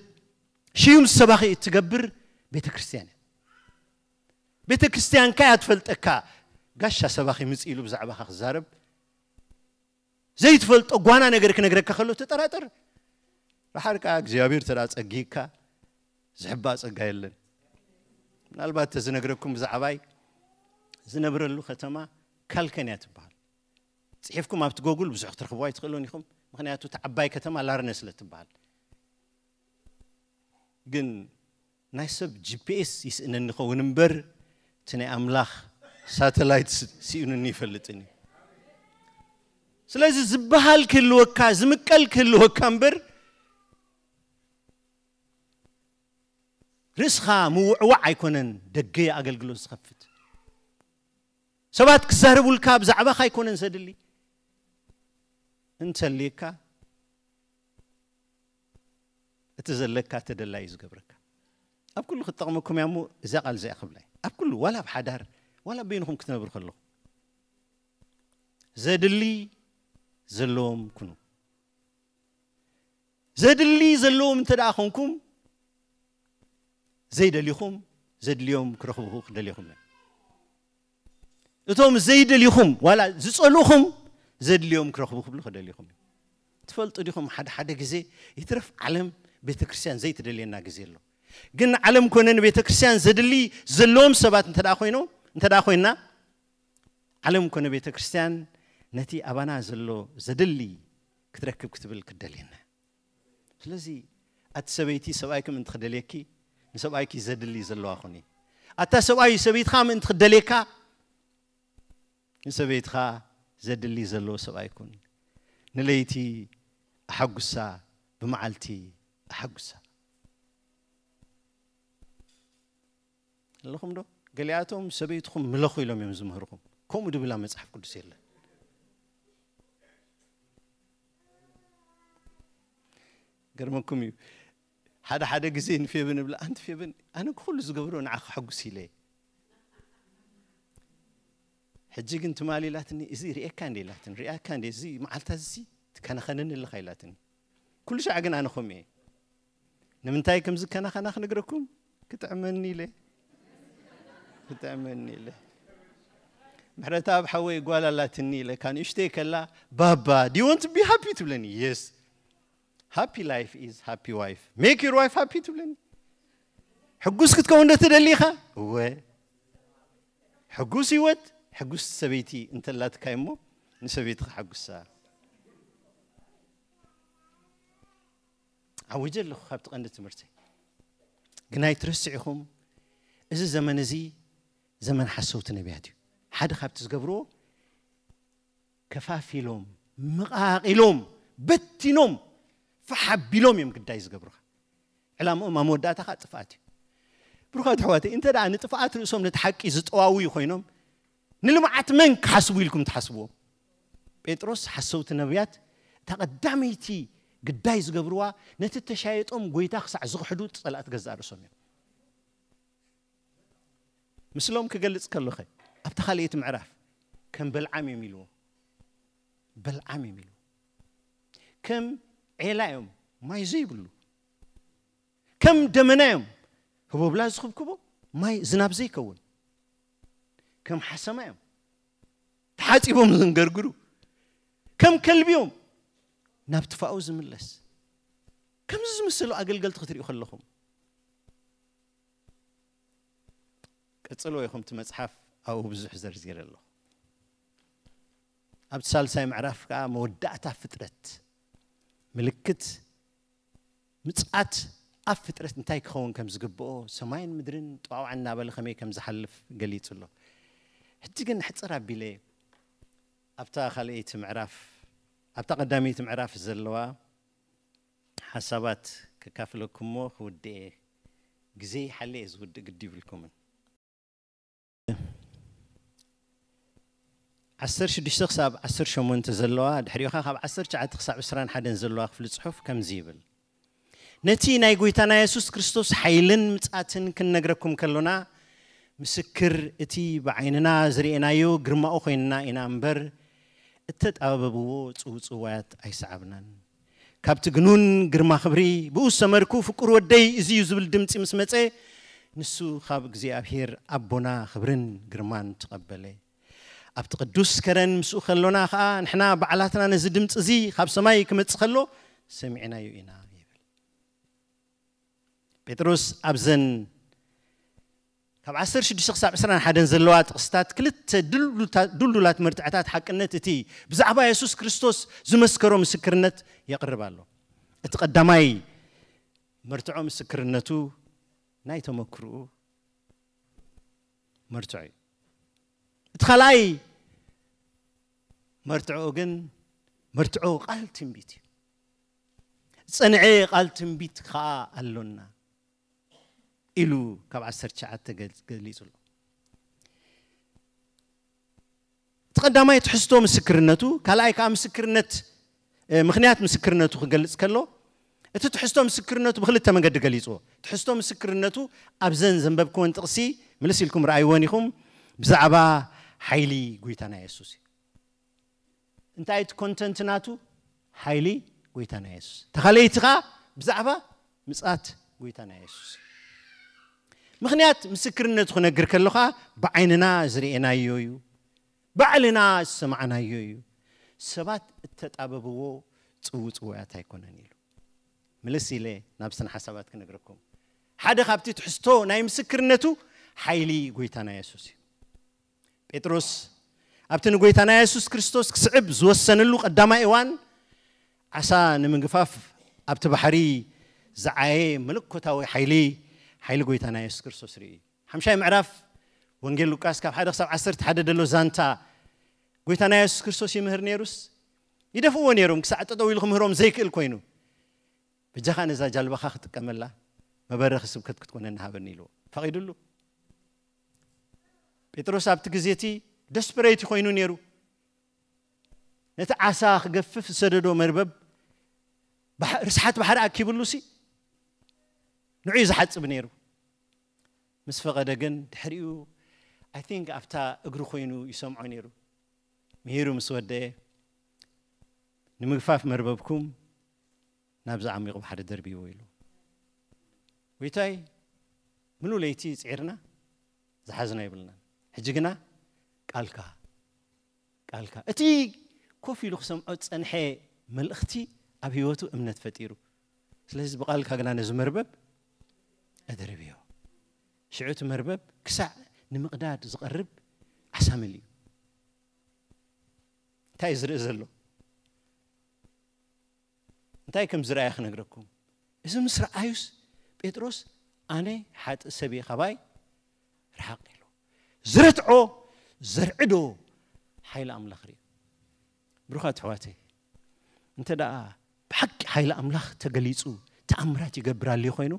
ሽዩም ሰባኺ እትገብር ቤተ ክርስቲያን እያ። ቤተ ክርስቲያንካ እያ ትፈልጠካ። ጋሻ ሰባኺ ምጽእ ኢሉ ብዛዕባኻ ክዛረብ፣ ዘይትፈልጦ ጓና ነገር ክነግረካ ከሎ ትጠራጠር። ደሓር ከኣ እግዚኣብሔር ተደኣ ጸጊካ፣ ዝሕባእ ጸጋ የለን። ምናልባት ተዝነግረኩም ብዛዕባይ፣ ዝነብረሉ ከተማ ካልከን እያ ትበሃል። ጽሒፍኩም ኣብቲ ጎጉል ብዙሕ ክትረኽብዋ ኣይትኽእሉን ኢኹም። ምኽንያቱ እታ ዓባይ ከተማ ላርነ ስለ ትበሃል። ግን ናይ ሰብ ጂ ፒ ኤስ ይስእነኒ ይኸውን እምበር፣ እቲ ናይ ኣምላኽ ሳተላይት ስ-፣ ስኢኑኒ ይፈልጥን እዩ። ስለዚ ዝበሃል ክህልወካ፣ ዝምቀል ክህልወካ እምበር፣ ርእስኻ ምውዕዋዕ ኣይኮነን ደገ ኣገልግሎት ዝኸፍት። ሰባት ክዛረቡልካ ብዛዕባኻ ኣይኮነን ዘድሊ። እንተልየካ፣ እቲ ዘለካ ተደላይ እዩ ዝገብረካ። ኣብ ኩሉ ክትጠቕመኩም እያ እሞ፣ እዛ ቃል እዚኣ ክብላ እየ። ኣብ ኩሉ፣ ዋላ ኣብ ሓዳር፣ ዋላ በይንኹም ክትነብሩ ከለኹም፣ ዘድሊ ዘለዎም ኩኑ። ዘድሊ ዘለዎም እንተ ደኣ ኾንኩም፣ ዘይደሊኹም ዘድልዮም ክረኽቡ ክደልየኹም እዮም። እቶም ዘይደሊኹም፣ ዋላ ዝጸልኡኹም፣ ዘድልዮም ክረኽቡ ክብሉ ክደልየኹም እዮም። ትፈልጡ ዲኹም፣ ሓደ ሓደ ግዜ ይትረፍ ዓለም ቤተ ክርስቲያን ዘይትደልየና ግዜ ኣሎ። ግን ንዓለም ኮነ ንቤተ ክርስቲያን ዘድሊ ዘለዎም ሰባት እንተ ደኣ ኮይኖም፣ እንተ ደኣ ኮይና፣ ዓለም ኮነ ቤተ ክርስቲያን ነቲ ኣባና ዘሎ ዘድሊ ክትረክብ ክትብል ክደልየና። ስለዚ ኣቲ ሰበይቲ ሰብኣይኪ ምእንቲ ክደልየኪ፣ ንሰብኣይኪ ዘድሊ ዘለዋ ኹኒ። ኣታ ሰብኣይ ሰበይትኻ ምእንቲ ክደልየካ፣ ንሰበይትኻ ዘድሊ ዘለዎ ሰብኣይ ኩን። ንለይቲ ኣሐጉሳ፣ ብመዓልቲ ኣሐጉሳ። ኣለኹም ዶ? ገሊኣቶም ሰበይትኹም ምለኹ ኢሎም እዮም ዝምህርኹም። ከምኡ ድብል ኣብ መጽሓፍ ቅዱስ የለን። ገርመኩም እዩ። ሓደ ሓደ ግዜ ንፌብን እብላ፣ "ኣንቲ ፌብን፣ ኣነ ኩሉ ዝገብሮ ንዓኺ ከሐጉስ ኢለ እየ። ሕጂ ግን ትማሊ" ኢላትኒ፣ "እዚ ርእየካ እንደ" ኢላትኒ፣ "ርእያካ እንደ፣ እዚ መዓልታ እዚ ትከናኸነኒ ኣለኻ" ኢላትኒ። ኩሉ ሻዕ ግን ኣነ ከምኡ እየ። ንምንታይ ከም ዝከናኸና ክነግረኩም? ክጥዕመኒ ኢለ። ክጥዕመኒ ኢለ። ምሕረተኣብ ሓወይ ጓል ኣላትኒ ኢለ፣ ካብ ንእሽተይ ከላ፣ "ባባ, do you want to be happy?" ትብለኒ። "Yes. Happy life is happy wife. Make your wife happy" ትብለኒ። ሕጉስ ክትከውን ዶ ትደሊ ኢኻ? እወ። ሕጉስ ህይወት፣ ሕጉስ ሰበይቲ እንተላትካ እሞ፣ ንሰበይትኻ ሓጉሳ። ዓዊጀ ኣለኹ ካብቲ ቀንዲ ትምህርተይ። ግን ኣይትረስዑ ኢኹም፣ እዚ ዘመን እዚ ዘመን ሓሰውቲ ነቢያት እዩ። ሓደ ካብቲ ዝገብርዎ፣ ከፋፊሎም፣ መቓቒሎም፣ በቲኖም፣ ፋሕ ኣቢሎም እዮም ግዳይ ዝገብሩኻ። ዕላምኦም ኣብ መወዳእታ ኸዓ ጥፍኣት እዩ። ብሩኻት ኣሕዋተይ፣ እንተ ደኣ ንጥፍኣት ርእሶም ነቲ ሓቂ ዝጠዋውዩ ኮይኖም፣ ንልምዓት መን ክሓስቡ ኢልኩም ትሓስብዎም? ጴጥሮስ፣ ሓሰውቲ ነቢያት፣ እታ ቀዳመይቲ ግዳይ ዝገብርዋ፣ ነቲ ተሻየጦም ጐይታ ክሳዕ ዝኽሕዱ ጸላእቲ ገዛእ ርእሶም እዮም። ምስሎም ክገልጽ ከሎኸ፣ ኣብታ ካልኣይቲ ምዕራፍ፣ ከም በልዓም እዮም ኢልዎ። በልዓም እዮም ኢልዎ። ከም ዔላ እዮም፣ ማይ ዘይብሉ። ከም ደመና እዮም፣ ህቦብላ ዝኽብክቦ፣ ማይ ዝናብ ዘይከውን። ከም ሓሰማ እዮም፣ ተሓጺቦም ዘንገርግሩ። ከም ከልቢ እዮም፣ ናብ ትፋኡ ዝምለስ። ከምዚ ዝመሰሉ ኣገልገልቲ ክትሪኡ ከለኹም፣ ቀጽሎ ኢኹም፣ እቲ መጽሓፍ ኣብኡ ብዙሕ ዘርዚረ ኣለኹ። ኣብቲ ሳልሳይ ምዕራፍ ከዓ መወዳእታ ፍጥረት፣ ምልክት ምጽኣት ኣብ ፍጥረት እንታይ ክኸውን ከም ዝግብኦ፣ ሰማይን ምድርን ጠዋውዓ እናበለ ከመይ ከም ዝሓልፍ ገሊጹ ኣሎ። ሕጂ ግን ሕጽር ኣቢለ ኣብታ ካልኣይቲ ምዕራፍ፣ ኣብታ ቀዳመይቲ ምዕራፍ ዘለዋ ሓሳባት ከካፍለኩም እሞ ክውድእ እየ። ግዜ ይሓለ እየ ዝውድእ፣ ግዲ ይብልኩምን። ዓሰርተ ሽዱሽተ ክሳብ ዓሰርተ ሸሞንተ ዘለዋ፣ ድሕሪኡ ኸኣ ካብ ዓሰርተ ትሽዓተ ክሳብ ዕስራን ሓደን ዘለዋ ክፍሊ ጽሑፍ ከምዚ ይብል። ነቲ ናይ ጐይታና የሱስ ክርስቶስ ሓይልን ምጽኣትን ክንነግረኩም ከሎና፣ ምስክር እቲ ብዓይንና ዝርኤናዮ ግርማኡ ኮይንና ኢና እምበር፣ እተጣበብዎ ጽውጽዋያት ኣይሰዓብናን። ካብቲ ግኑን ግርማ ክብሪ፣ ብኡ ዝሰመርኩ ፍቁር ወደይ እዚ እዩ ዝብል ድምጺ ምስ መጸ፣ ንሱ ካብ እግዚኣብሔር ኣቦና ክብርን ግርማን ተቐበለ። ኣብቲ ቅዱስ ከረን ምስኡ ከሎና ኸኣ፣ ንሕና ባዕላትና ነዚ ድምጺ እዚ ካብ ሰማይ ክመጽእ ከሎ ሰሚዕናዮ ኢና ይብል። ጴጥሮስ ኣብዘን ካብ ዓሰርተ ሽዱሽተ ክሳብ ዕስራን ሓደን ዘለዋ ጥቕስታት ክልተ ድልዱታ-፣ ድልዱላት መርትዕታት ሓቅነት እቲ ብዛዕባ የሱስ ክርስቶስ ዝመስከሮ ምስክርነት የቕርብ ኣሎ። እቲ ቀዳማይ መርትዖ ምስክርነቱ ናይ ተመክርኡ መርትዖ እዩ። እቲ ካልኣይ መርትዖ ግን መርትዖ ቃል ትንቢት እዩ። ዝጸንዐ ቃል ትንቢት ከኣ ኣሎና ኢሉ ካብ ዓሰርተ ትሽዓተ ገል-፣ ገሊጹ ኣሎ። እቲ ቀዳማይ ትሕዝቶ ምስክርነቱ፣ ካልኣይ ከኣ ምስክርነት፣ እ፣ ምኽንያት ምስክርነቱ ክገልጽ ከሎ፣ እቲ ትሕዝቶ ምስክርነቱ ብኽልተ መገዲ ገሊጽዎ። ትሕዝቶ ምስክርነቱ ኣብዘን ዘንበብክወን ጥቕሲ ምልስ ኢልኩም ረኣይወን ኢኹም፣ ብዛዕባ ሓይሊ ጐይታና የሱስ እዩ። እንታይ እቲ ኮንተንት ናቱ? ሓይሊ ጐይታና የሱስ። ተኻለይቲ ኸኣ ብዛዕባ ምጽኣት ጐይታና የሱስ። ምኽንያት ምስክርነቱ ክነግር ከለኻ ብዓይንና ዝርኤናዮ እዩ፣ ባዕልና ዝሰማዕናዮ እዩ። ሰባት እተጣበብዎ ጽውጽውያት ኣይኮነን ኢሉ። ምልስ ኢለ ናብ ስነ ሓሳባት ክነግረኩም። ሓደ ካብቲ ትሕዝቶ ናይ ምስክርነቱ ሓይሊ ጐይታና የሱስ እዩ። ጴጥሮስ ኣብቲ ንጐይታና የሱስ ክርስቶስ ክስዕብ ዝወሰነሉ ቀዳማይ እዋን፣ ዓሳ ንምግፋፍ ኣብቲ ባሕሪ ዝዓየ መለኮታዊ ሓይሊ፣ ሓይሊ ጐይታና የሱስ ክርስቶስ ርእዩ። ሓምሻይ ምዕራፍ ወንጌል ሉቃስ ካብ ሓደ ክሳብ ዓሰርተ ሓደ ዘሎ ዛንታ፣ ጐይታና የሱስ ክርስቶስ ይምህር ነይሩስ፣ ይደፍእዎ ነይሮም፣ ክሳዕ ጠጠው ኢሉ ክምህሮም ዘይክእል ኮይኑ፣ "በጃኻ ነዛ ጃልባኻ ክጥቀመላ፣ መበረኺ ስብከት ክትኮነኒ ሃበኒ" ኢልዎ። ፈቒዱሉ። ጴጥሮስ ኣብቲ ግዜ እቲ ደስፐሬት ኮይኑ ነይሩ። ነቲ ዓሳ ክገፍፍ ዝሰደዶ መርበብ ባሕ-፣ ርስሓት ባሕሪ ኣኪብሉሲ ንዑ እዩ ዝሓጽብ ነይሩ። ምስ ፈቐደ ግን ድሕሪኡ፣ ኣይ ቲንክ፣ ኣብታ እግሩ ኮይኑ ይሰምዖ ነይሩ። ምሂሩ ምስ ወደየ፣ "ንምግፋፍ መርበብኩም ናብዚ ዓሚቑ ባሕሪ ደርብይዎ" ኢሉ። "ጐይታይ፣ ምሉእ ለይቲ ጽዒርና፣ ዝሓዝና የብልናን። ሕጂ ግና ቃልካ፣ ቃልካ።" እቲ ኮፍ ኢሉ ክሰምዖ ዝጸንሐ መልእኽቲ ኣብ ህይወቱ እምነት ፈጢሩ። "ስለዚ ብቓልካ ግና ነዚ መርበብ ኣደርብዮ።" ሽዑ እቲ መርበብ ክሳዕ ንምቕዳድ ዝቐርብ ዓሳ መሊኡ። እንታይ እዩ ዝርኢ ዘሎ? እንታይ ከም ዝረኣየ ክነግረኩም። እዚ ምስ ረኣዩስ ጴጥሮስ፣ "ኣነ ሓጥእ ሰብ እየ፣ ካባይ ርሓቕ" ኢሉ። ዝረትዖ ዘርዕዶ ሓይሊ ኣምላኽ ርእዩ። ብሩኻት ኣሕዋተይ፣ እንተ ደኣ ብሓቂ ሓይሊ ኣምላኽ ተገሊጹ፣ ተኣምራት ይገብር ኣልዩ ኮይኑ፣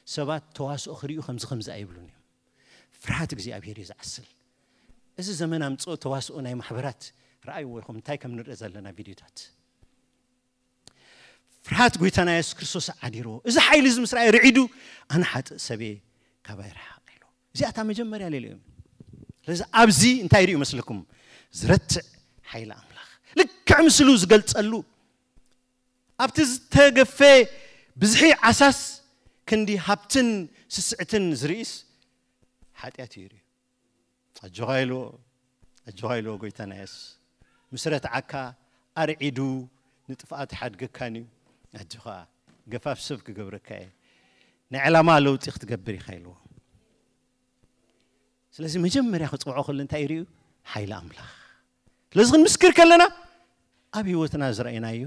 ሰባት ተዋስኦ ክርእዩ ከምዚ ከምዚ ኣይብሉን እዮም። ፍርሃት እግዚኣብሔር እዩ ዝዓስል። እዚ ዘመን ኣምጽኦ ተዋስኦ ናይ ማሕበራት ረኣይዎ ኢኹም፣ እንታይ ከም ንርኢ ዘለና ቪድዮታት። ፍርሃት ጐይታና የሱስ ክርስቶስ ዓዲርዎ። እዚ ሓይሊ እዚ ምስ ረኣየ ርዒዱ፣ "ኣነ ሓጥእ ሰብ እየ፣ ካባይ ርሓቕ" ኢሉ። እዚኣ እታ መጀመርያ ሌሊኦም። ስለዚ ኣብዚ እንታይ ይርእዩ መስለኩም? ዝረትዕ ሓይሊ ኣምላኽ። ልክዕ ምስሉ ዝገልጸሉ። ኣብቲ ዝተገፈ ብዝሒ ዓሳስ ክንዲ ሃብትን ስስዕትን ዝርእይስ ሓጢኣት እዩ ይርእዩ። ኣጆኻ ኢልዎ፣ ኣጆኻ ኢልዎ ጐይታና የሱስ። ምስ ረትዓካ ኣርዒዱ ንጥፍኣት ይሓድገካን እዩ። ኣጆኻ፣ ገፋፍ ሰብ ክገብረካ እየ። ናይ ዕላማ ለውጢ ክትገብር ኢኻ ኢልዎ። ስለዚ መጀመርያ ክጽውዖ ከሎ እንታይ ይርእዩ? ሓይሊ ኣምላኽ። ስለዚ ክንምስክር ከለና ኣብ ህይወትና ዝረኣይናዮ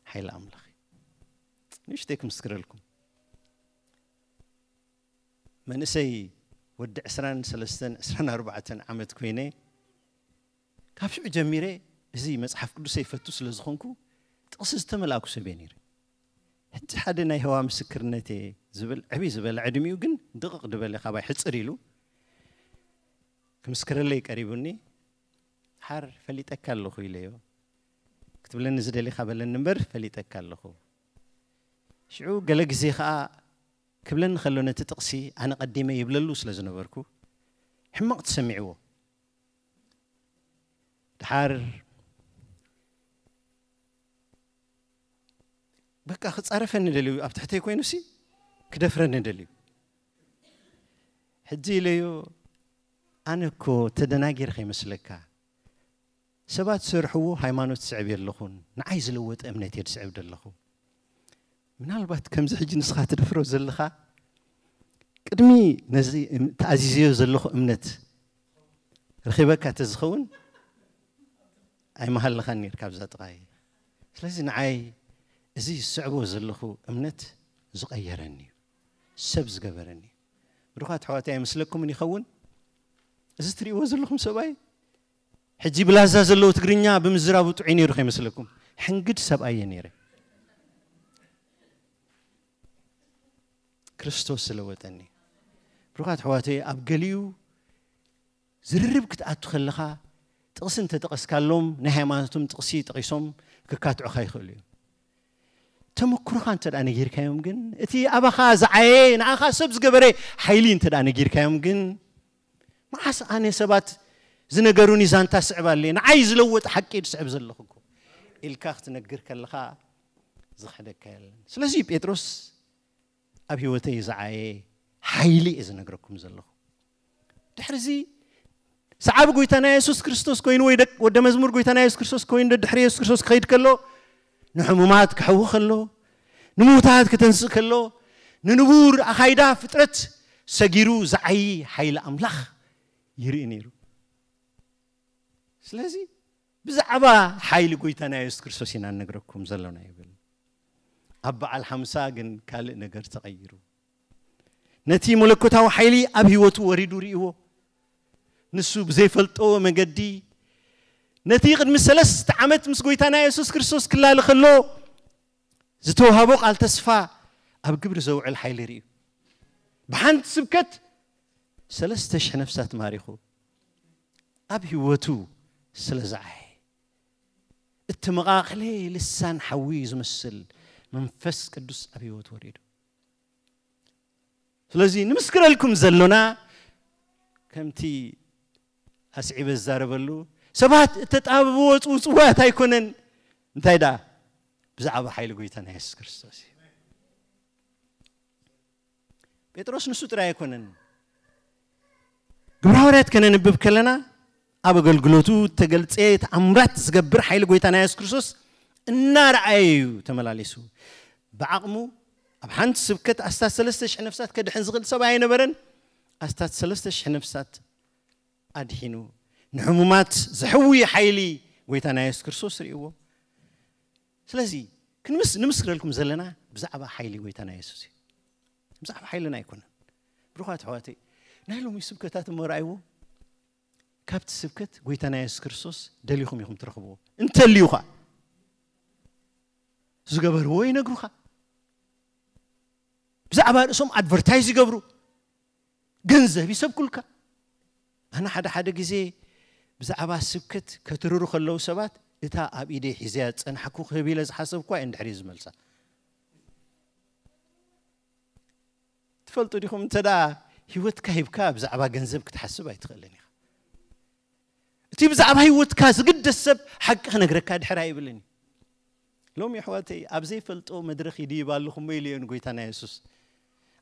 ሓይሊ ኣምላኽ እዩ። ንእሽተይ ክምስክረልኩም። መንእሰይ ወዲ ዕስራን ሰለስተን ዕስራን ኣርባዕተን ዓመት ኮይነ፣ ካብ ሽዑ ጀሚረ እዚ መጽሓፍ ቅዱሰ ይፈቱ ስለ ዝኾንኩ ጥቕሲ ዝተመልኣኩ ሰብ እየ ነይረ። ሕጂ ሓደ ናይ ህዋ ምስክርነት እየ ዝብል ዕብይ ዝበለ ዕድሚኡ ግን ድቕቕ ዝበለ ካባይ ሕጽር ኢሉ ክምስክረለይ ቀሪቡኒ። ሓር ፈሊጠካ ኣለኹ ኢለዮ። ክትብለኒ ዝደሊኻ በለኒ እምበር ፈሊጠካ ኣለኹ። ሽዑ ገለ ግዜ ኸኣ ክብለኒ ከሎ ነቲ ጥቕሲ ኣነ ቀዲመ ይብለሉ ስለ ዝነበርኩ ሕማቕ ተሰሚዕዎ። ድሓር በቃ ክጻረፈኒ ደልዩ፣ ኣብ ትሕተይ ኮይኑሲ ክደፍረኒ ደልዩ። ሕጂ ኢለዮ፣ ኣነ እኮ ተደናጊረ ከይመስለካ፣ ሰባት ዝሰርሕዎ ሃይማኖት ዝስዕብ የለኹን፣ ንዓይ ዝለወጠ እምነት እየ ዝስዕብ ዘለኹ። ምናልባት ከምዚ ሕጂ ንስኻ ትደፍሮ ዘለኻ፣ ቅድሚ ነዚ እም-፣ ተኣዚዘዮ ዘለኹ እምነት ረኺበካ ተዝኸውን፣ ኣይምሃለኻን ነይርካ ኣብዛ ጥቓይ። ስለዚ ንዓይ እዚ ዝስዕቦ ዘለኹ እምነት ዝቐየረኒ እዩ፣ ሰብ ዝገበረኒ እዩ። ብሩኻት ኣሕዋተይ፣ ኣይመስለኩምን ይኸውን? እዚ ትርእይዎ ዘለኹም ሰብኣይ፣ ሕጂ ብላዛ ዘለዎ ትግርኛ ብምዝራቡ ጥዑይ ነይሩ ከይመስለኩም። ሕንግድ ሰብኣይ እየ ነይረ። ክርስቶስ ዝለወጠኒ። ብሩኻት ኣሕዋተይ፣ ኣብ ገሊኡ ዝርርብ ክትኣቱ ከለኻ፣ ጥቕሲ እንተጠቐስካሎም፣ ናይ ሃይማኖቶም ጥቕሲ ጠቒሶም ክካትዑኻ ይኽእሉ እዮም። ተመክሮኻ እንተ ደኣ ነጊርካዮም ግን፣ እቲ ኣባኻ ዝዓየ፣ ንኣኻ ሰብ ዝገበረ ሓይሊ እንተ ደኣ ነጊርካዮም ግን፣ መዓስ ኣነ ሰባት ዝነገሩኒ ዛንታ ስዕብ ኣለየ፣ ንዓይ ዝለወጠ ሓቂ እየ ዝስዕብ ዘለኹ እኮ ኢልካ ክትነግር ከለኻ ዝኽሕደካ የለን። ስለዚ ጴጥሮስ ኣብ ህይወተይ ዝዓየ ሓይሊ እየ ዝነግረኩም ዘለኹ። ድሕሪ እዚ ሰዓቢ ጎይታና የሱስ ክርስቶስ ኮይኑ ወይ ደቅ-፣ ወደ መዝሙር ጎይታና የሱስ ክርስቶስ ኮይኑ ደድሕሪ የሱስ ክርስቶስ ክኸይድ ከሎ፣ ንሕሙማት ክሕዊ ከሎ፣ ንምዉታት ከተንስእ ከሎ፣ ንንቡር ኣኻይዳ ፍጥረት ሰጊሩ ዝዓዪ ሓይሊ ኣምላኽ ይርኢ ነይሩ። ስለዚ ብዛዕባ ሓይሊ ጎይታና የሱስ ክርስቶስ ኢና ንነግረኩም ዘሎና ይብል። ኣብ በዓል ሓምሳ ግን ካልእ ነገር ተቐይሩ። ነቲ መለኮታዊ ሓይሊ ኣብ ህይወቱ ወሪዱ ርእይዎ። ንሱ ብዘይፈልጦ መገዲ ነቲ ቅድሚ ሰለስተ ዓመት ምስ ጎይታና የሱስ ክርስቶስ ክላለ ከሎ ዝተዋህቦ ቃል ተስፋ ኣብ ግብሪ ዘውዕል ሓይሊ ርእዩ። ብሓንቲ ስብከት ሰለስተ ሽሕ ነፍሳት ማሪኹ። ኣብ ህይወቱ ስለ ዝዓየ፣ እተመቓቕለ ልሳን ሓዊ ዝመስል መንፈስ ቅዱስ ኣብ ህይወቱ ወሪዱ። ስለዚ ንምስክረልኩም ዘሎና፣ ከምቲ ኣስዒበ ዝዛረበሉ፣ ሰባት እተጣበብዎ ጽውጽዋያት ኣይኮነን። እንታይ ደኣ? ብዛዕባ ሓይሊ ጎይታና የሱስ ክርስቶስ እዩ። ጴጥሮስ ንሱ ጥራይ ኣይኮነን። ግብረ ሃዋርያት ከነንብብ ከለና፣ ኣብ ኣገልግሎቱ እተገልጸ ተኣምራት ዝገብር ሓይሊ ጎይታና የሱስ ክርስቶስ እናረኣየ እዩ ተመላሊሱ። ብዓቕሙ ኣብ ሓንቲ ስብከት ኣስታት ሰለስተ ሽሕ ነፍሳት ከድሕን ዝኽእል ሰብ ኣይነበረን። ኣስታት ሰለስተ ሽሕ ነፍሳት ኣድሒኑ። ንሕሙማት ዘሕዊ ሓይሊ ጎይታና የሱስ ክርስቶስ ርእይዎ። ስለዚ ክንምስ-፣ ንምስክረልኩም ዘለና ብዛዕባ ሓይሊ ጎይታና የሱስ እዩ። ብዛዕባ ሓይልና ኣይኮነን። ብሩኻት ኣሕዋተይ፣ ናይ ሎሚ ስብከታት እሞ ረኣይዎ። ካብቲ ስብከት ጎይታና የሱስ ክርስቶስ ደሊኹም ኢኹም ትረኽብዎ። እንተልዩ ኸኣ ዝገበርዎ ይነግሩኻ። ብዛዕባ ርእሶም ኣድቨርታይዝ ይገብሩ፣ ገንዘብ ይሰብኩልካ። ኣነ ሓደ ሓደ ግዜ ብዛዕባ ስብከት ከትርሩ ከለዉ ሰባት፣ እታ ኣብ ኢደይ ሒዘያ ዝጸናሕኩ ክህብ ኢለ ዝሓሰብኩዋ እየ እንድሕር ዝመልሳ። ትፈልጡ ዲኹም፣ እንተ ደኣ ህይወትካ ሂብካ ብዛዕባ ገንዘብ ክትሓስብ ኣይትኽእልን ኢኻ። እቲ ብዛዕባ ህይወትካ ዝግደስ ሰብ ሓቂ ክነግረካ ድሕር ኣይብልን እዩ። ሎሚ ኣሕዋተይ፣ ኣብ ዘይፈልጦ መድረኽ ይድይብ ኣለኹ እሞ ኢልዮ ንጎይታና የሱስ።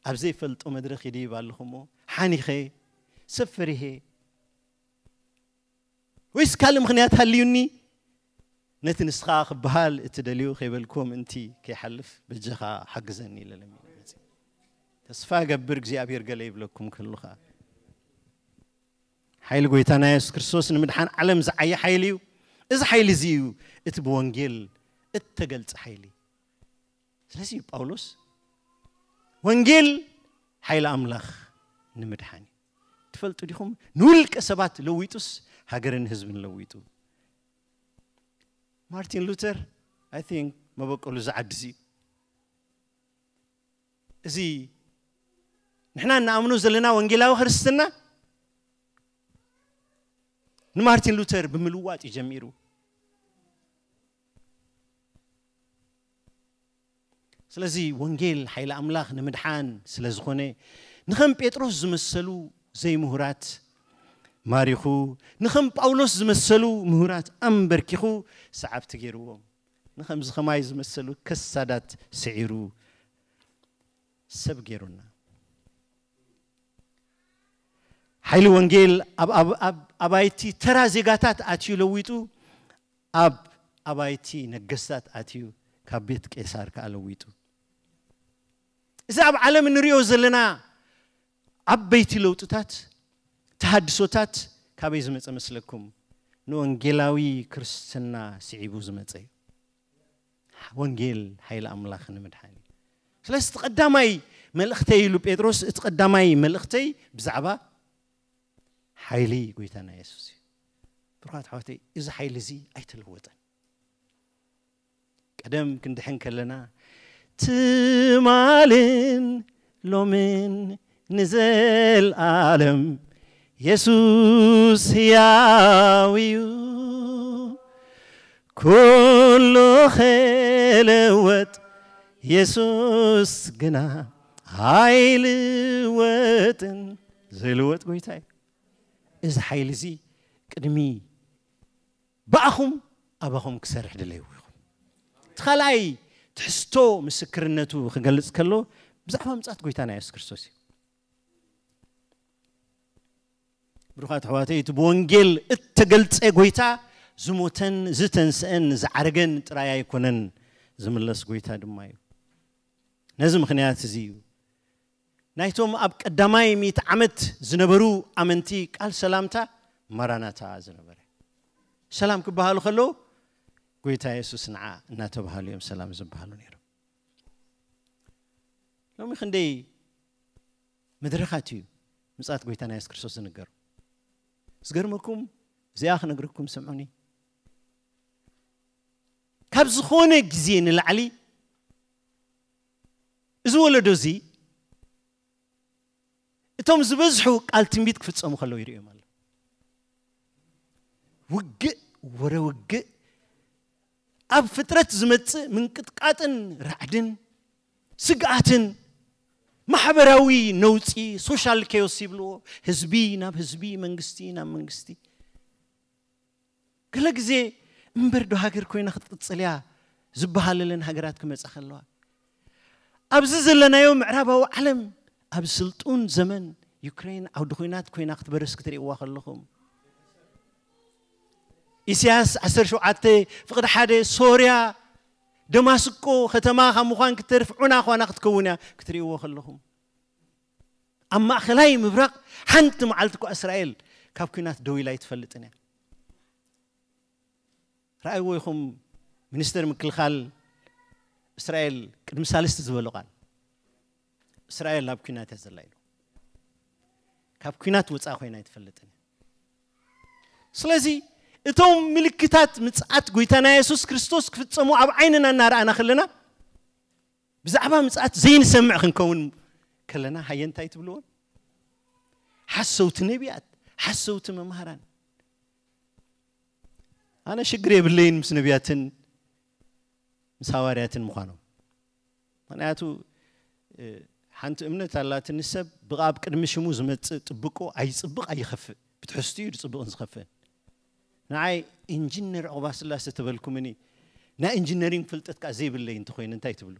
ኣብ ዘይፈልጦ መድረኽ ይድይብ ኣለኹ እሞ ሓኒኸ፣ ሰብ ፈሪሄ፣ ወይስ ካልእ ምኽንያት ሃልዩኒ? ነቲ ንስኻ ክበሃል እትደልዩ ከይበልኩዎ ምእንቲ ከይሓልፍ በጃኻ ሓግዘኒ ኢለ ለሚነ መጺእ። ተስፋ እገብር እግዚኣብሔር ገለ ይብለኩም ክህሉ ኸኣ። ሓይሊ ጎይታና የሱስ ክርስቶስ ንምድሓን ዓለም ዝዓየ ሓይሊ እዩ። እዚ ሓይሊ እዚ እዩ እቲ ብወንጌል እተገልጸ ሓይሊ። ስለዚ እዩ ጳውሎስ ወንጌል ሓይሊ ኣምላኽ ንምድሓን እዩ። ትፈልጡ ዲኹም? ንውልቀ ሰባት ለዊጡስ ሃገርን ህዝብን ለዊጡ። ማርቲን ሉተር፣ I think፣ መበቆሉ ዝዓድስ እዩ። እዚ ንሕና እንኣምኖ ዘለና ወንጌላዊ ክርስትና ንማርቲን ሉተር ብምልዋጥ እዩ ጀሚሩ። ስለዚ ወንጌል ሓይሊ ኣምላኽ ንምድሓን ስለ ዝኾነ፣ ንኸም ጴጥሮስ ዝመሰሉ ዘይምሁራት ማሪኹ፣ ንኸም ጳውሎስ ዝመሰሉ ምሁራት ኣንበርኪኹ ሰዓብቲ ገይርዎም። ንኸምዚ ኸማይ ዝመሰሉ ከሳዳት ስዒሩ ሰብ ገይሩና። ሓይሊ ወንጌል ኣብ፣ ኣብ፣ ኣብ ኣባይቲ ተራ ዜጋታት ኣትዩ ለዊጡ፣ ኣብ ኣባይቲ ነገስታት ኣትዩ ካብ ቤት ቄሳር ከኣ ለዊጡ። እዚ ኣብ ዓለም እንሪኦ ዘለና ዓበይቲ ለውጥታት፣ ተሃድሶታት ካበይ ዝመጸ መስለኩም? ንወንጌላዊ ክርስትና ስዒቡ ዝመጸ እዩ። ወንጌል ሓይሊ ኣምላኽ ንምድሓን እዩ። ስለዚ እቲ ቀዳማይ መልእኽተይ ኢሉ ጴጥሮስ፣ እቲ ቀዳማይ መልእኽተይ ብዛዕባ ሓይሊ ጎይታና የሱስ እዩ። ብሩኻት ኣሕዋተይ፣ እዚ ሓይሊ እዚ ኣይተለወጠን። ቀደም ክንድሕን ከለና ትማልን ሎምን ንዘልኣለም የሱስ ሕያው እዩ። ኩሉ ክልወጥ የሱስ ግና ኣይልወጥን። ዘይልወጥ ጎይታ እዩ። እዚ ሓይሊ እዚ ቅድሚ ብኣኹም ኣባኹም ክሰርሕ ድለይዎ ይኹን። እቲ ካልኣይ ትሕዝቶ ምስክርነቱ ክገልጽ ከሎ ብዛዕባ ምጽኣት ጎይታና የሱስ ክርስቶስ እዩ። ብሩኻት ኣሕዋተይ፣ እቲ ብወንጌል እተገልጸ ጎይታ ዝሞተን ዝተንስአን ዝዓረገን ጥራይ ኣይኮነን፣ ዝምለስ ጎይታ ድማ እዩ። ነዚ ምኽንያት እዚ እዩ ናይቶም ኣብ ቀዳማይ ሚእቲ ዓመት ዝነበሩ ኣመንቲ ቃል ሰላምታ ማራናታ ዝነበረ። ሰላም ክበሃሉ ከለዉ ጎይታ የሱስ ንዓ እናተባሃሉ እዮም ሰላም ዝበሃሉ ነይሮም። ሎሚ ክንደይ መድረኻት እዩ ምጽኣት ጎይታና የሱስ ክርስቶስ ዝንገር። ዝገርመኩም፣ እዚኣ ክነግረኩም ስምዑኒ። ካብ ዝኾነ ግዜ ንላዕሊ እዚ ወለዶ እዚ እቶም ዝበዝሑ ቃል ትንቢት ክፍጸሙ ከለዉ ይርእዮም ኣሎ። ውግእ፣ ወረ ውግእ፣ ኣብ ፍጥረት ዝመጽእ ምንቅጥቃጥን ራዕድን ስግኣትን ማሕበራዊ ነውጺ፣ ሶሻል ኬዮስ ይብልዎ፣ ህዝቢ ናብ ህዝቢ፣ መንግስቲ ናብ መንግስቲ። ገለ ግዜ እምበር ዶ ሃገር ኮይና ክትቅጽል እያ ዝበሃለለን ሃገራት ክመጻ ከለዋ፣ ኣብዚ ዘለናዮ ምዕራባዊ ዓለም ኣብ ስልጡን ዘመን ዩክሬን ዓውዲ ኲናት ኮይና ክትበርስ ክትርእይዋ ከለኹም፣ ኢሳያስ ዓሰርተ ሸውዓተ ፍቕዲ ሓደ ሶርያ ደማስቆ ከተማ ካብ ምዃን ክትተርፍ ዑና ኳና ክትከውን እያ ክትርእይዎ ከለኹም፣ ኣብ ማእኸላይ ምብራቕ ሓንቲ መዓልቲ እኳ እስራኤል ካብ ኲናት ደው ኢላ ኣይትፈልጥን እያ። ረኣይዎ ኢኹም፣ ሚኒስተር ምክልኻል እስራኤል ቅድሚ ሳልስቲ ዝበሎ ቃል፣ እስራኤል ኣብ ኲናት እያ ዘላ ኢሉ። ካብ ኲናት ወፃኢ ኮይና ኣይትፈልጥን። ስለዚ እቶም ምልክታት ምጽኣት ጎይታና የሱስ ክርስቶስ ክፍጸሙ ኣብ ዓይንና እናረኣና ከለና፣ ብዛዕባ ምጽኣት ዘይንሰምዕ ክንከውን ከለና፣ ሃየ እንታይ ትብልዎም? ሓሰውቲ ነቢያት፣ ሓሰውቲ መምሃራን። ኣነ ሽግር የብለይን ምስ ነቢያትን ምስ ሃዋርያትን ምዃኖም። ምኽንያቱ፣ እ፣ ሓንቲ እምነት ኣላትኒ፣ ሰብ ብኣብ ቅድሚ ሽሙ ዝመጽእ ጥብቆ ኣይጽብቕ ኣይኸፍእ፣ ብትሕዝትኡ እዩ ዝጽብቕን ዝኸፍእን። ንዓይ ኢንጂነር ዑቕባስላሴ ተበልኩምኒ፣ ናይ ኢንጂነሪንግ ፍልጠት ከኣ ዘይብለይ እንተኾይነ እንታይ ትብሉ?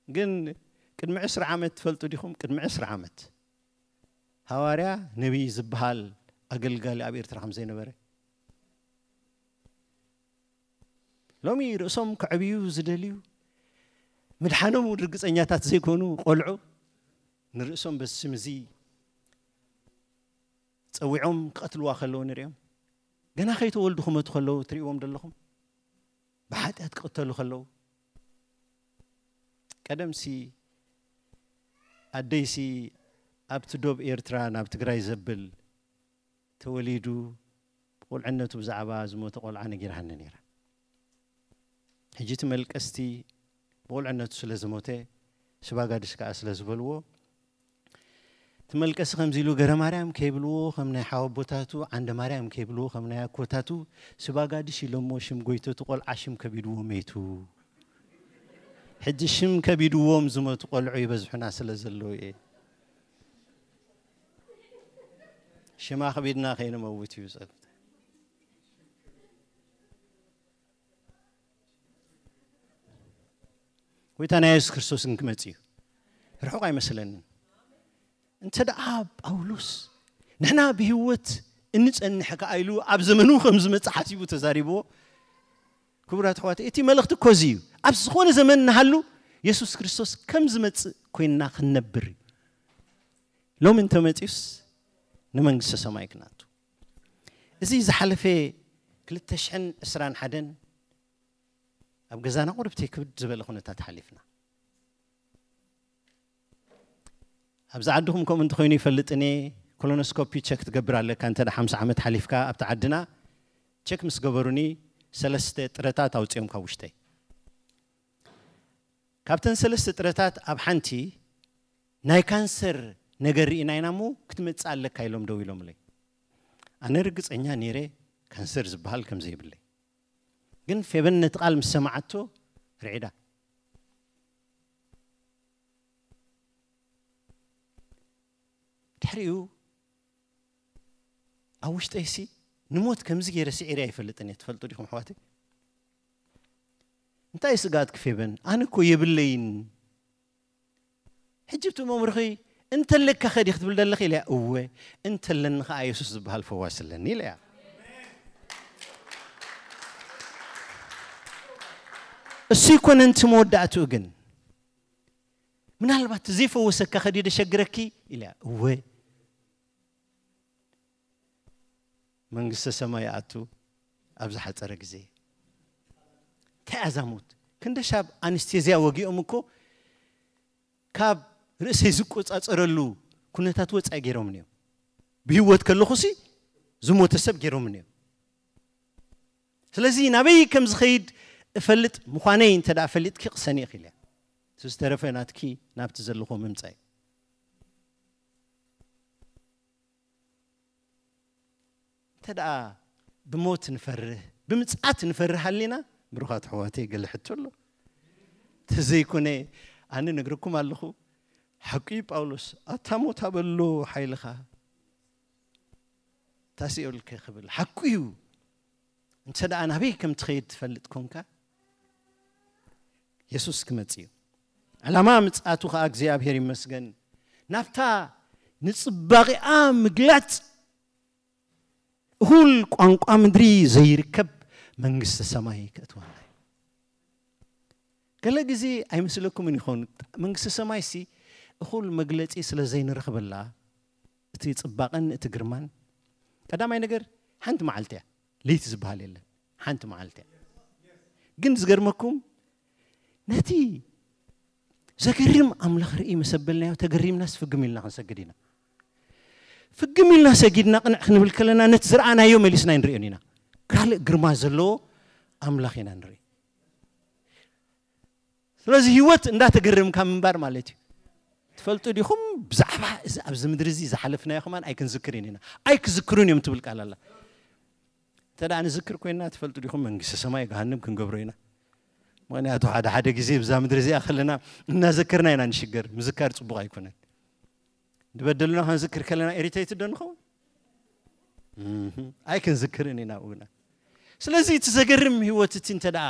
ግን ቅድሚ ዕስራ ዓመት ትፈልጡ ዲኹም? ቅድሚ ዕስራ ዓመት ሃዋርያ ነቢይ ዝበሃል ኣገልጋሊ ኣብ ኤርትራ ከም ዘይነበረ። ሎሚ ርእሶም ከዕብዩ ዝደልዩ፣ ምድሓኖም እውን ርግጸኛታት ዘይኮኑ ቆልዑ ንርእሶም በዚ ስም እዚ ጸዊዖም ክቐትልዋ ከለዉ ንሪኦም። ገና ከይተወልዱ ክመቱ ከለዉ ትርእይዎም ዘለኹም። ብሓጢኣት ክቕተሉ ከለዉ። ቀደምሲ ኣደይሲ ኣብቲ ዶብ ኤርትራ ናብ ትግራይ ዘብል ተወሊዱ ብቑልዕነቱ ብዛዕባ ዝሞተ ቆልዓ ነጊራሃኒ ነይራ። ሕጂ እቲ መልቀስቲ ብቑልዕነቱ ስለ ዝሞተ ስባጋድሽ ከኣ ስለ ዝበልዎ እቲ መልቀሲ ከምዚ ኢሉ ገረ ማርያም ከይብልዎ ከም ናይ ሓወቦታቱ ዓንደ ማርያም ከይብልዎ ከም ናይ ኣኮታቱ ስባጋድሽ ኢሎሞ ሽም ጎይተቱ ቆልዓ ሽም ከቢድዎ መይቱ። ሕጂ ሽም ከቢድዎም ዝመቱ ቆልዑ ይበዝሑና ስለ ዘለዉ እየ። ሽማ ክቢድና ከይንመውት እዩ ጸሎት። ጎይታና የሱስ ክርስቶስ ግን ክመጽእ እዩ። ርሑቕ ኣይመስለንን። እንተ ደኣ ጳውሎስ ንሕና ብህይወት እንጸንሕ ከኣ ኢሉ ኣብ ዘመኑ ከም ዝመጽእ ሓሲቡ ተዛሪብዎ። ክቡራት ኣሕዋት፣ እቲ መልእኽቲ እኮ እዚ እዩ። ኣብ ዝኾነ ዘመን ንሃሉ የሱስ ክርስቶስ ከም ዝመጽእ ኮይንና ክንነብር እዩ። ሎሚ እንተመጺኡስ ንመንግስተ ሰማይ ክናቱ። እዚ ዝሓለፈ ክልተ ሽሕን ዕስራን ሓደን ኣብ ገዛና ቁርብቲ ክብድ ዝበለ ኩነታት ሓሊፍና። ኣብዚ ዓድኹም ከምኡ እንተኾይኑ ይፈልጥን እየ። ኮሎኖስኮፒ ቸክ ትገብር ኣለካ። እንተ ሓምሳ ዓመት ሓሊፍካ ኣብቲ ዓድና ቸክ ምስ ገበሩኒ ሰለስተ ጥረታት ኣውፅኦም ካብ ውሽጠይ። ካብተን ሰለስተ ጥረታት ኣብ ሓንቲ ናይ ካንሰር ነገር ርኢና ኢና እሞ ክትመጽእ ኣለካ ኢሎም ደው ኢሎምለይ። ኣነ ርግጸኛ ነይረ ካንሰር ዝበሃል ከም ዘይብለይ። ግን ፌበን ነቲ ቃል ምስ ሰማዓቶ ርዒዳ። ድሕሪኡ ኣብ ውሽጠይሲ ንሞት ከምዚ ገይረ ስዒረ ኣይፈልጥን እየ። ትፈልጡ ዲኹም ኣሕዋተይ? እንታይ ስግኣት ክፌበን? ኣነ እኮ የብለይን። ሕጂ እቲ መምርኺ እንተለካ ከዲ ክትብል ደለኺ ኢለያ። እወ እንተለኒ ከኣ የሱስ ዝበሃል ፈዋስ ኣለኒ ኢለያ። እሱ ይኮነን እቲ መወዳእትኡ ግን ምናልባት ዘይፈወሰካ ከዲ ደሸግረኪ ኢለያ። እወ መንግስተ ሰማይ ይኣቱ ኣብ ዝሓፀረ ግዜ። እንታይ ኣዛሙት ክንደሻብ ኣንስቴዝያ ወጊኦም እኮ ካብ ርእሰይ ዝቆፃፀረሉ ኩነታት ወፃኢ ገይሮም እዮም። ብህይወት ከለኹሲ ዝሞተ ሰብ ገይሮም እዮም። ስለዚ ናበይ ከም ዝኸይድ እፈልጥ ምዃነይ እንተ ደኣ ፈሊጥኪ ቅሰኒ ኢኺ ኢለያ። እቲ ዝተረፈ ናትኪ ናብቲ ዘለኹዎ ምምፃእ እዩ። እንተ ደኣ ብሞት ንፈርህ ብምጽኣት ንፈርህ ሃሊና ብሩኻት ኣሕዋተይ ገለ ሕቶ ኣሎ። ተዘይኮነ ኣነ ነግረኩም ኣለኹ። ሓቁ እዩ ጳውሎስ ኣታ ሞት ኣበሎ ሓይልኻ ታሲኦልከ ክብል ሓቁ እዩ። እንተ ደኣ ናበይ ከም ትኸይድ ትፈልጥ ኮንካ የሱስ ክመጽእ እዩ። ዕላማ ምጽኣቱ ኸኣ እግዚኣብሔር ይመስገን ናብታ ንጽባቒኣ ምግላጽ እኹል ቋንቋ ምድሪ ዘይርከብ መንግስተ ሰማይ ከእትወና እዩ። ገለ ግዜ ኣይመስለኩምን ይኸውን መንግስተ ሰማይ ሲ እኹል መግለጺ ስለ ዘይንረኽበላ እቲ ጽባቐን እቲ ግርማን ቀዳማይ ነገር ሓንቲ መዓልቲ እያ። ለይቲ ዝበሃል የለን ሓንቲ መዓልቲ እያ። ግን ዝገርመኩም ነቲ ዘገርም ኣምላኽ ርኢ መሰበልናዮ ተገሪምናስ ፍግም ኢልና ክንሰግድ ኢና። ፍግም ኢልና ሰጊድና ቅንዕ ክንብል ከለና ነቲ ዝረኣናዮ መሊስና ኣይንርእዮን ኢና። ካልእ ግርማ ዘለዎ ኣምላኽ ኢና ንርኢ። ስለዚ ህይወት እንዳተገረምካ ምንባር ማለት እዩ። ትፈልጡ ዲኹም ብዛዕባ እዚ ኣብዚ ምድሪ እዚ ዝሓለፍናዮ ከማን ኣይክንዝክርን ኢና። ኣይክዝክሩን እዮም ትብል ቃል ኣላ። እንተ ደኣ ንዝክር ኮይንና ትፈልጡ ዲኹም መንግስቲ ሰማይ ገሃንም ክንገብሮ ኢና። ምክንያቱ ሓደ ሓደ ግዜ ብዛ ምድሪ እዚኣ ከለና እናዘከርና ኢና ንሽገር። ምዝካር ጽቡቕ ኣይኮነን። ዝበደሉና ክንዝክር ከለና ኢሪቴትድ ዶ ንኸውን? ኣይክንዝክርን ኢና ኣብኡና። ስለዚ እቲ ዘገርም ህይወት እቲ እንተ ደኣ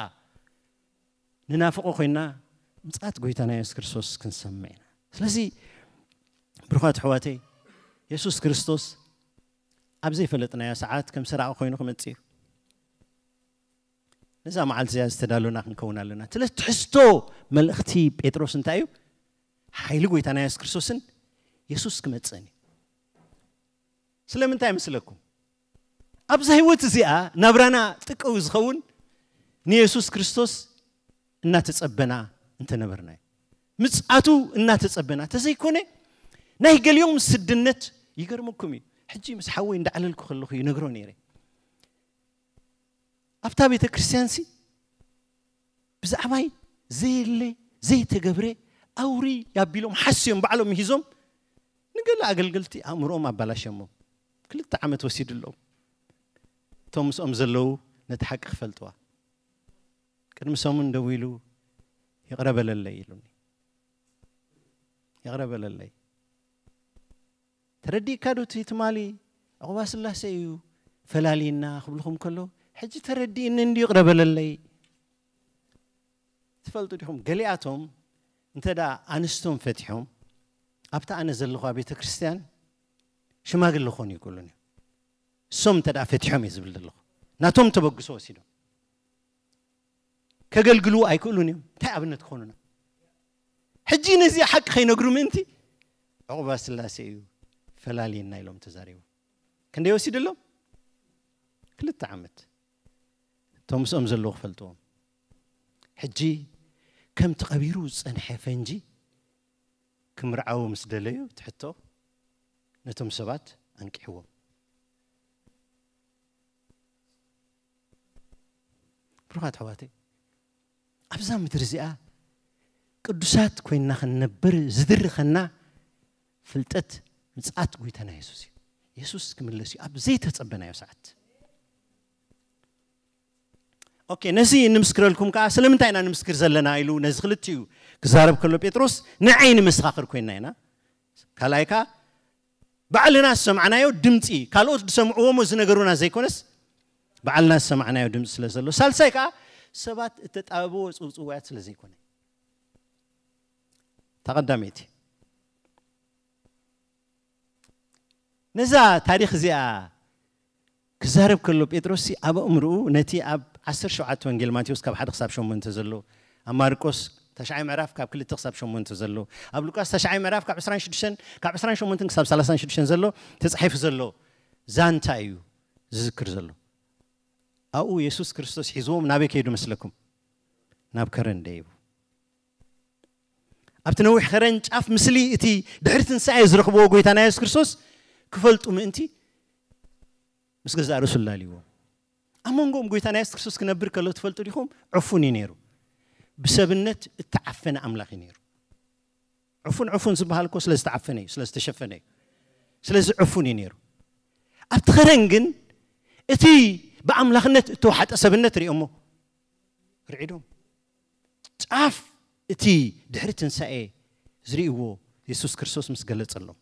ንናፍቆ ኮይና ምጽኣት ጎይታና የሱስ ክርስቶስ ክንሰምዕ ኢና። ስለዚ ብሩኻት ኣሕዋተይ የሱስ ክርስቶስ ኣብ ዘይፈለጥናዮ ሰዓት ከም ሰራቂ ኮይኑ ክመጽእ እዩ። ነዛ መዓልቲ እዚኣ ዝተዳለና ክንከውን ኣለና። ስለ ትሕዝቶ መልእኽቲ ጴጥሮስ እንታይ እዩ? ሓይሊ ጎይታና የሱስ ክርስቶስን የሱስ ክመጽእን እዩ። ስለምንታይ ይመስለኩም? ኣብዛ ህይወት እዚኣ ናብራና ጥቀው ዝኸውን ንየሱስ ክርስቶስ እናተጸበና እንተነበርና እዩ። ምጽኣቱ እናተጸበና ተዘይኮነ ናይ ገሊኦም ስድነት ይገርመኩም እዩ። ሕጂ ምስ ሓወይ እንዳዕለልኩ ከለኹ ይነግሮ ነይረ። ኣብታ ቤተ ክርስቲያን ሲ ብዛዕባይ ዘየለ ዘይተገብረ ኣውሪ ያቢሎም ሓስዮም ባዕሎም ሂዞም ንገለ ኣገልገልቲ ኣእምሮኦም ኣባላሸሞ። ክልተ ዓመት ወሲድሎም። እቶም ምስኦም ዘለዉ ነቲ ሓቂ ክፈልጥዋ። ቅድሚ ሰሙን ደው ኢሉ ይቕረ በለለይ ኢሉኒ። ይቕረ በለለይ። ተረዲእካ ዶ እቲ ትማሊ ዕቑባ ስላሴ እዩ ፈላልየና ክብልኹም ከሎ፣ ሕጂ ተረዲእኒ እንድዩ ይቕረ በለለይ። ትፈልጡ ዲኹም፣ ገሊኣቶም እንተ ደኣ ኣንስቶም ፈቲሖም ኣብታ ኣነ ዘለኹዋ ቤተ ክርስቲያን ሽማግለ ክኾኑ ይክእሉን እዮም። እሶም እንተ ደኣ ፈቲሖም እየ ዝብል ዘለኹ፣ ናቶም ተበግሶ ወሲዶም ከገልግሉ ኣይክእሉን እዮም። እንታይ ኣብነት ክኾኑና? ሕጂ ነዚ ሓቂ ከይነግሩ ምእንቲ ዕቑባ ስላሴ እዩ ፈላልየና ኢሎም ተዛሪቦም። ክንደይ ወሲድሎም? ክልተ ዓመት። እቶም ምስኦም ዘለዉ ክፈልጥዎም። ሕጂ ከምቲ ቀቢሩ ዝጸንሐ ፈንጂ ክምርዓዉ ምስ ደለዩ ትሕቶ ነቶም ሰባት ኣንቂሕዎም። ብሩኻት ኣሕዋተይ፣ ኣብዛ ምድሪ እዚኣ ቅዱሳት ኮይንና ክንነብር ዝድርኸና ፍልጠት ምጽኣት ጎይታና የሱስ እዩ። የሱስ ክምለስ እዩ ኣብ ዘይተጸበናዮ ሰዓት። ኦኬ፣ ነዚ ንምስክረልኩም ከኣ ስለምንታይ ኢና ንምስክር ዘለና ኢሉ ነዚ ክልቲኡ ክዛረብ ከሎ ጴጥሮስ ንዓይ ንመሰኻኽር ኮይንና ኢና። ካልኣይ ከኣ ባዕልና ዝሰማዕናዮ ድምፂ፣ ካልኦት ዝሰምዕዎ እሞ ዝነገሩና ዘይኮነስ ባዕልና ዝሰማዕናዮ ድምፂ ስለ ዘሎ። ሳልሳይ ከኣ ሰባት እተጣበብዎ ጽውጽዋያት ስለ ዘይኮነ። እታ ቀዳመይቲ። ነዛ ታሪኽ እዚኣ ክዛረብ ከሎ ጴጥሮስ ኣብ ኣእምርኡ ነቲ ኣብ ዓሰርተ ሸውዓተ ወንጌል ማቴዎስ ካብ ሓደ ክሳብ ሸሞንተ ዘሎ፣ ኣብ ማርቆስ ተሽዓይ ምዕራፍ ካብ ክልተ ክሳብ ሸሞንተ ዘሎ፣ ኣብ ሉቃስ ተሽዓይ ምዕራፍ ካብ ዕስራን ሽዱሽተን ካብ ዕስራን ሸሞንተን ክሳብ ሰላሳን ሽዱሽተን ዘሎ ተጻሒፉ ዘሎ ዛንታ እዩ ዝዝክር ዘሎ። ኣብኡ የሱስ ክርስቶስ ሒዝዎም ናበይ ከይዱ መስለኩም? ናብ ከረን ደይቡ። ኣብቲ ነዊሕ ከረን ጫፍ ምስሊ እቲ ድሕሪ ትንሳኤ ዝረኽብዎ ጎይታና የሱስ ክርስቶስ ክፈልጡ ምእንቲ ምስ ገዛእ ርእሱ ኣላልይዎ። ኣብ መንጎኦም ጎይታና የሱስ ክርስቶስ ክነብር ከሎ ትፈልጡ ዲኹም? ዕፉን እዩ ነይሩ። ብሰብነት እተዓፈነ ኣምላኽ እዩ ነይሩ። ዕፉን ዕፉን ዝበሃል እኮ ስለ ዝተዓፈነ እዩ፣ ስለ ዝተሸፈነ እዩ። ስለዚ ዕፉን እዩ ነይሩ። ኣብቲ ከረን ግን እቲ ብኣምላኽነት እተዋሓጠ ሰብነት ሪኦሞ ርዒዶም። ጫፍ እቲ ድሕሪ ትንሳኤ ዝርእይዎ የሱስ ክርስቶስ ምስ ገለጸሎም።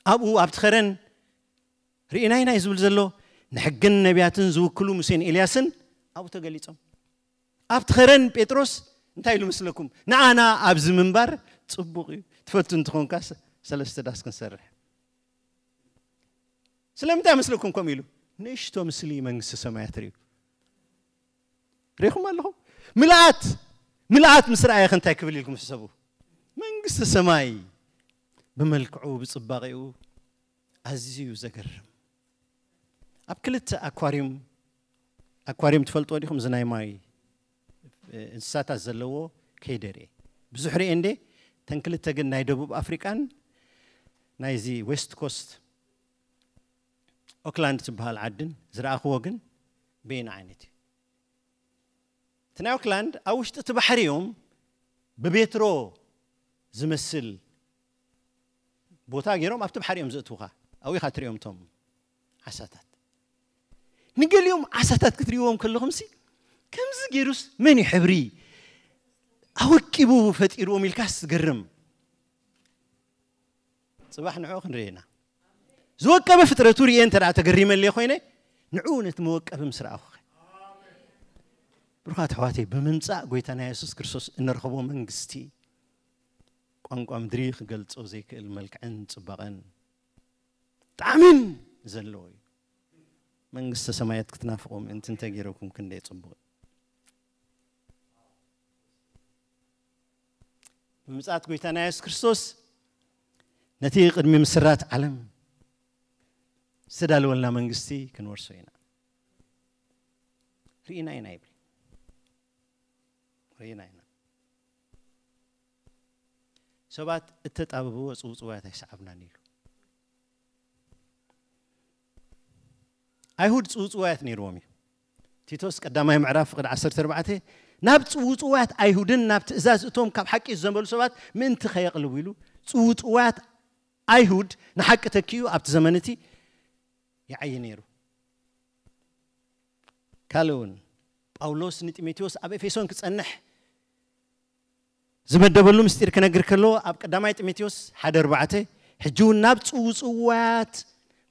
ኣብኡ ኣብቲ ከረን ርኢናይና እዩ ዝብል ዘሎ። ንሕግን ነቢያትን ዝውክሉ ሙሴን ኤልያስን ኣብኡ ተገሊጾም። ኣብቲ ከረን ጴጥሮስ እንታይ ኢሉ መስለኩም? ንኣና ኣብዚ ምንባር ጽቡቕ እዩ። ትፈቱ እንትኾንካ ሰ-፣ ሰለስተ ዳስ ክንሰርሕ። ስለምንታይ መስለኩም ከምኡ ኢሉ? ንእሽቶ ምስሊ መንግስቲ ሰማያት ርእዩ። ሪኹም ኣለኹም? ምልኣት፣ ምልኣት ምስ ረኣየ ከ እንታይ ክብል ኢልኩም ሕሰቡ? መንግስቲ ሰማይ ብመልክዑ፣ ብጽባቐኡ ኣዝዩ ዘገርም። ኣብ ክልተ ኣኳርዩም፣ ኣኳርዩም ትፈልጥዎ ዲኹም? እዚ ናይ ማይ፣ እ፣ እንስሳታት ዘለዎ ከይደ ርኤ። ብዙሕ ርኤ እንዴ? እተን ክልተ ግን ናይ ደቡብ ኣፍሪቃን ናይዚ ዌስት ኮስት ኦክላንድ ትበሃል ዓድን ዝረኣኽዎ ግን በየን ዓይነት እዩ? እቲ ናይ ኦክላንድ ኣብ ውሽጢ እቲ ባሕሪ እዮም ብቤትሮ ዝመስል ቦታ ገይሮም ኣብቲ ባሕሪ እዮም ዘእትውኻ። ኣብኡ ኢኻ ትሪኦም እቶም ዓሳታት። ንገሊኦም ዓሳታት ክትሪእዎም ከለኹም ሲ ከምዚ ገይሩስ መን እዩ ሕብሪ ኣወቂቡ ፈጢርዎም ኢልካስ ትገርም። ጽባሕ ንዕኡ ክንርኢ ኢና። ዝወቀበ ፍጥረቱ ርእየ እንተ ደኣ ተገሪመለይ ኮይነ፣ ንዕኡ ነቲ መወቀቢ ምስ ረኣኹ ኸ? ብሩኻት ኣሕዋተይ፣ ብምምጻእ ጐይታና የሱስ ክርስቶስ እንረኽቦ መንግስቲ፣ ቋንቋ ምድሪ ክገልጾ ዘይክእል መልክዕን ጽባቐን ጣዕምን ዘለዎ እዩ። መንግስተ ሰማያት ክትናፍቑ ምእንቲ እንተገይረኩም ክንደይ ጽቡቕ። ብምጽኣት ጐይታና የሱስ ክርስቶስ ነቲ ቅድሚ ምስራት ዓለም ዝተዳለወልና መንግስቲ ክንወርሶ ኢና። ርኢና ኢና ይብል። ርኢና ኢና። ሰባት እተጣበብዎ ጽውጽዋያት ኣይሰዓብናን ኢሉ። ኣይሁድ ጽውጽዋያት ነይርዎም እዩ። ቲቶስ ቀዳማይ ምዕራፍ ፍቕዲ ዓሰርተ ኣርባዕተ፣ ናብ ጽውጽዋያት ኣይሁድን ናብ ትእዛዝ እቶም ካብ ሓቂ ዝዘንበሉ ሰባት ምእንቲ ከየቕልቡ ኢሉ፣ ጽውጽዋያት ኣይሁድ ንሓቂ ተኪኡ ኣብቲ ዘመን እቲ ይዓይ ነይሩ። ካልእ እውን ጳውሎስ ንጢሞቴዎስ ኣብ ኤፌሶን ክጸንሕ ዝመደበሉ ምስጢር ክነግር ከሎ ኣብ ቀዳማይ ጢሞቴዎስ ሓደ ኣርባዕተ፣ ሕጂ እውን ናብ ጽውጽዋያት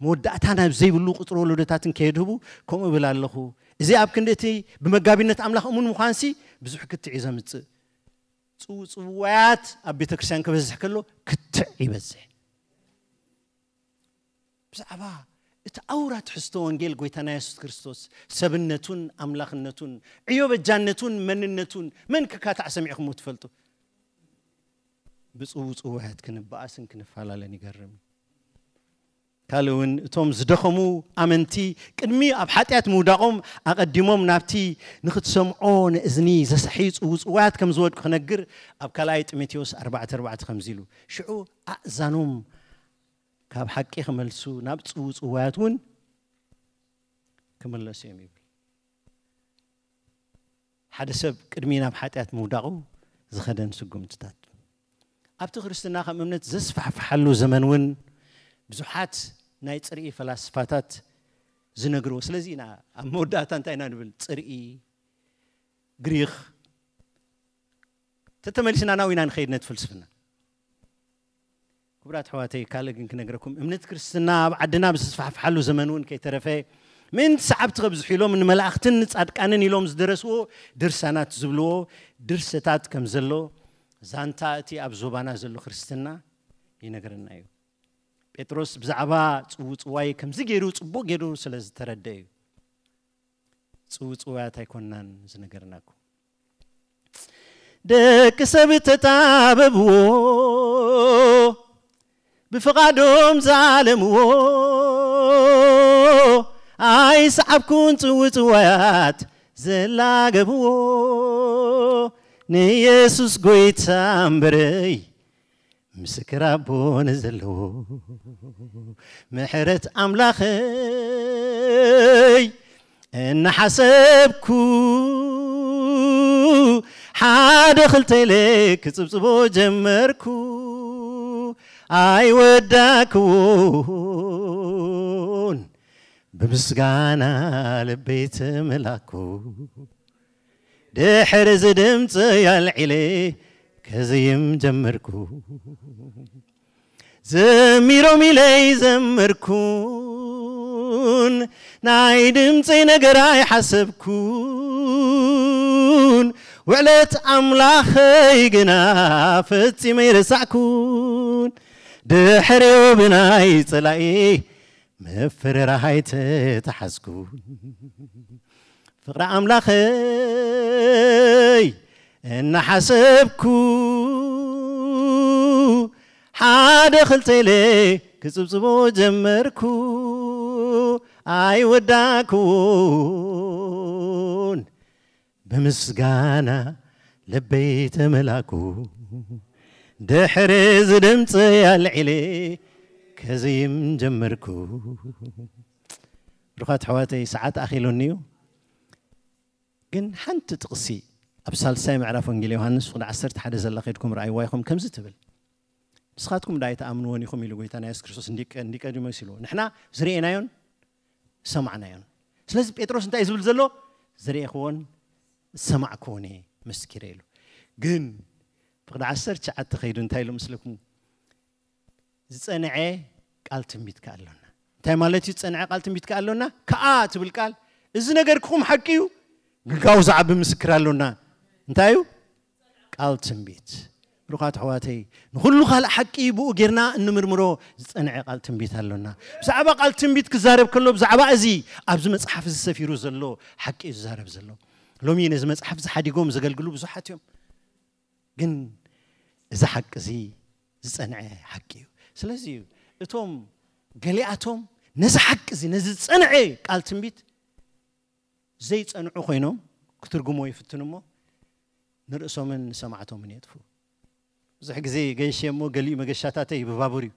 መወዳእታ ናብ ዘይብሉ ቁጽሪ ወለዶታትን ከየድህቡ ከምኡ እብል ኣለኹ። እዚ ኣብ ክንዲ እቲ ብመጋቢነት ኣምላኽ እሙን ምዃንሲ ብዙሕ ክትዕ እዩ ዘምጽእ። ጽውጽዋያት ኣብ ቤተ ክርስቲያን ክበዝሕ ከሎ ክትዕ ይበዝሕ። ብዛዕባ እቲ ኣውራ ትሕዝቶ ወንጌል ጎይታና የሱስ ክርስቶስ፣ ሰብነቱን ኣምላኽነቱን፣ ዕዮ በጃነቱን መንነቱን፣ መን ክካታዕ ሰሚዕኹም ትፈልጡ? ብጽውጽዋያት ክንበኣስን ክንፈላለን ይገርም እዩ። ካልእ እውን እቶም ዝደኸሙ ኣመንቲ ቅድሚ ኣብ ሓጢኣት ምውዳቖም ኣቐዲሞም ናብቲ ንኽትሰምዖ ንእዝኒ ዘስሕይ ጽውጽዋያት ከም ዝወድቁ ክነግር ኣብ ካልኣይ ጢሞቴዎስ ኣርባዕተ ኣርባዕተ ከምዚ ኢሉ፣ ሽዑ ኣእዛኖም ካብ ሓቂ ክመልሱ ናብ ጽውጽዋያት እውን ክምለሱ እዮም ይብል። ሓደ ሰብ ቅድሚ ናብ ሓጢኣት ምውዳቑ ዝኸደን ስጉምትታት ኣብቲ ክርስትና ከም እምነት ዘስፋሕፍሓሉ ዘመን እውን ብዙሓት ናይ ጽርኢ ፈላስፋታት ዝነግርዎ። ስለዚ ኢና ኣብ መወዳእታ እንታይ ኢና ንብል? ጽርኢ፣ ግሪኽ፣ ተተመሊስና ናው ኢና ንኸይድ ነቲ ፍልስፍና። ክቡራት ኣሕዋተይ፣ ካልእ ግን ክነግረኩም፣ እምነት ክርስትና ኣብ ዓድና ብዝስፋሕፍሓሉ ዘመን እውን ከይተረፈ ምእንቲ ሰዓብቲ ከብዝሑ ኢሎም ንመላእኽትን ንጻድቃንን ኢሎም ዝደረስዎ ድርሳናት ዝብልዎ ድርሰታት ከም ዘሎ ዛንታ እቲ ኣብ ዞባና ዘሎ ክርስትና ይነግረና እዩ። ጴጥሮስ ብዛዕባ ጽውጽዋይ ከምዚ ገይሩ ጽቡቕ ገይሩ ስለ ዝተረደ እዩ። ጽውጽዋያት ኣይኮናን ዝነገርናኩም። ደቂ ሰብ ተጣበብዎ፣ ብፍቓዶም ዛለምዎ፣ ኣይሰዓብኩን ጽውጽዋያት ዘላገብዎ፣ ንየሱስ ጎይታ እምበረይ ምስክር ኣቦ ንዘለዎ፣ ምሕረት ኣምላኸይ እናሓሰብኩ፣ ሓደ ክልተ ኢለ ክጽብጽቦ ጀመርኩ፣ ኣይወዳክዎን፣ ብምስጋና ልበይ ተመላኩ። ድሕሪ እዚ ድምፂ ኣልዒለ ከዝይም ጀመርኩ። ዘሚሮም ኢለይ ዘመርኩን፣ ናይ ድምፀይ ነገር ኣይሓሰብኩን። ውዕለት ኣምላኸይ ግና ፈጺመ ይረሳዕኩን። ድሕሪኡ ብናይ ጸላኢ ምፍርራሃይ ተተሓዝኩ። ፍቕሪ ኣምላኸይ እናሓሰብኩ፣ ሓደ ክልተ ኢለ ክጽብጽቦ ጀመርኩ። ኣይወዳኩን፣ ብምስጋና ልበይ ተመላኩ። ድሕሪ እዚ ድምፂ ኣልዒለ ከዝይም ጀመርኩ። ብሩኻት ኣሕዋተይ፣ ሰዓት ኣኺሉኒ እዩ። ግን ሓንቲ ጥቕሲ ኣብ ሳልሳይ ምዕራፍ ወንጌል ዮሃንስ ፍቕዲ ዓሰርተ ሓደ ዘላ ከድኩም ረኣይዋ ኢኹም። ከምዚ ትብል፣ "ንስኻትኩም ዳኣ ኣይትኣምንዎን ኢኹም" ኢሉ ጎይታና የሱስ ክርስቶስ እንዲቀ-፣ እንዲቀዲሞስ ኢሉ። ንሕና ዝርእናዮን ዝሰማዕናዮን። ስለዚ ጴጥሮስ እንታይ እዩ ዝብል ዘሎ? "ዝርእኽዎን ዝሰማዕክዎን እየ መስኪረ" ኢሉ። ግን ፍቕዲ ዓሰርተ ትሽዓተ ከይዱ እንታይ ኢሉ መስለኩም? "ዝጸንዐ ቃል ትንቢት ከኣ ኣሎና።" እንታይ ማለት እዩ? ዝጸንዐ ቃል ትንቢት ከኣ ኣሎና። ከኣ ትብል ቃል፣ እዚ ነገርክኹም ሓቂ እዩ፣ ግን ካብኡ ዝዓቢ ምስክር ኣሎና። እንታይ እዩ? ቃል ትንቢት። ብሩኻት ኣሕዋተይ፣ ንኹሉ ካልእ ሓቂ ብኡ ጌርና እንምርምሮ ዝጸንዐ ቃል ትንቢት ኣሎና። ብዛዕባ ቃል ትንቢት ክዛረብ ከሎ፣ ብዛዕባ እዚ ኣብዚ መጽሓፍ እዚ ሰፊሩ ዘሎ ሓቂ እዩ ዝዛረብ ዘሎ። ሎሚ ነዚ መጽሓፍ እዚ ሓዲጎም ዘገልግሉ ብዙሓት እዮም። ግን እዚ ሓቂ እዚ ዝጸንዐ ሓቂ እዩ። ስለዚ እዩ እቶም ገሊኣቶም ነዚ ሓቂ እዚ፣ ነዚ ዝጸንዐ ቃል ትንቢት ዘይጸንዑ ኮይኖም ክትርጉሞ ይፍትኑ እሞ፣ ንርእሶምን ንሰማዕቶምን የጥፍኡ። ብዙሕ ግዜ ገይሸ እሞ፣ ገሊኡ መገሻታተይ ብባቡር እዩ።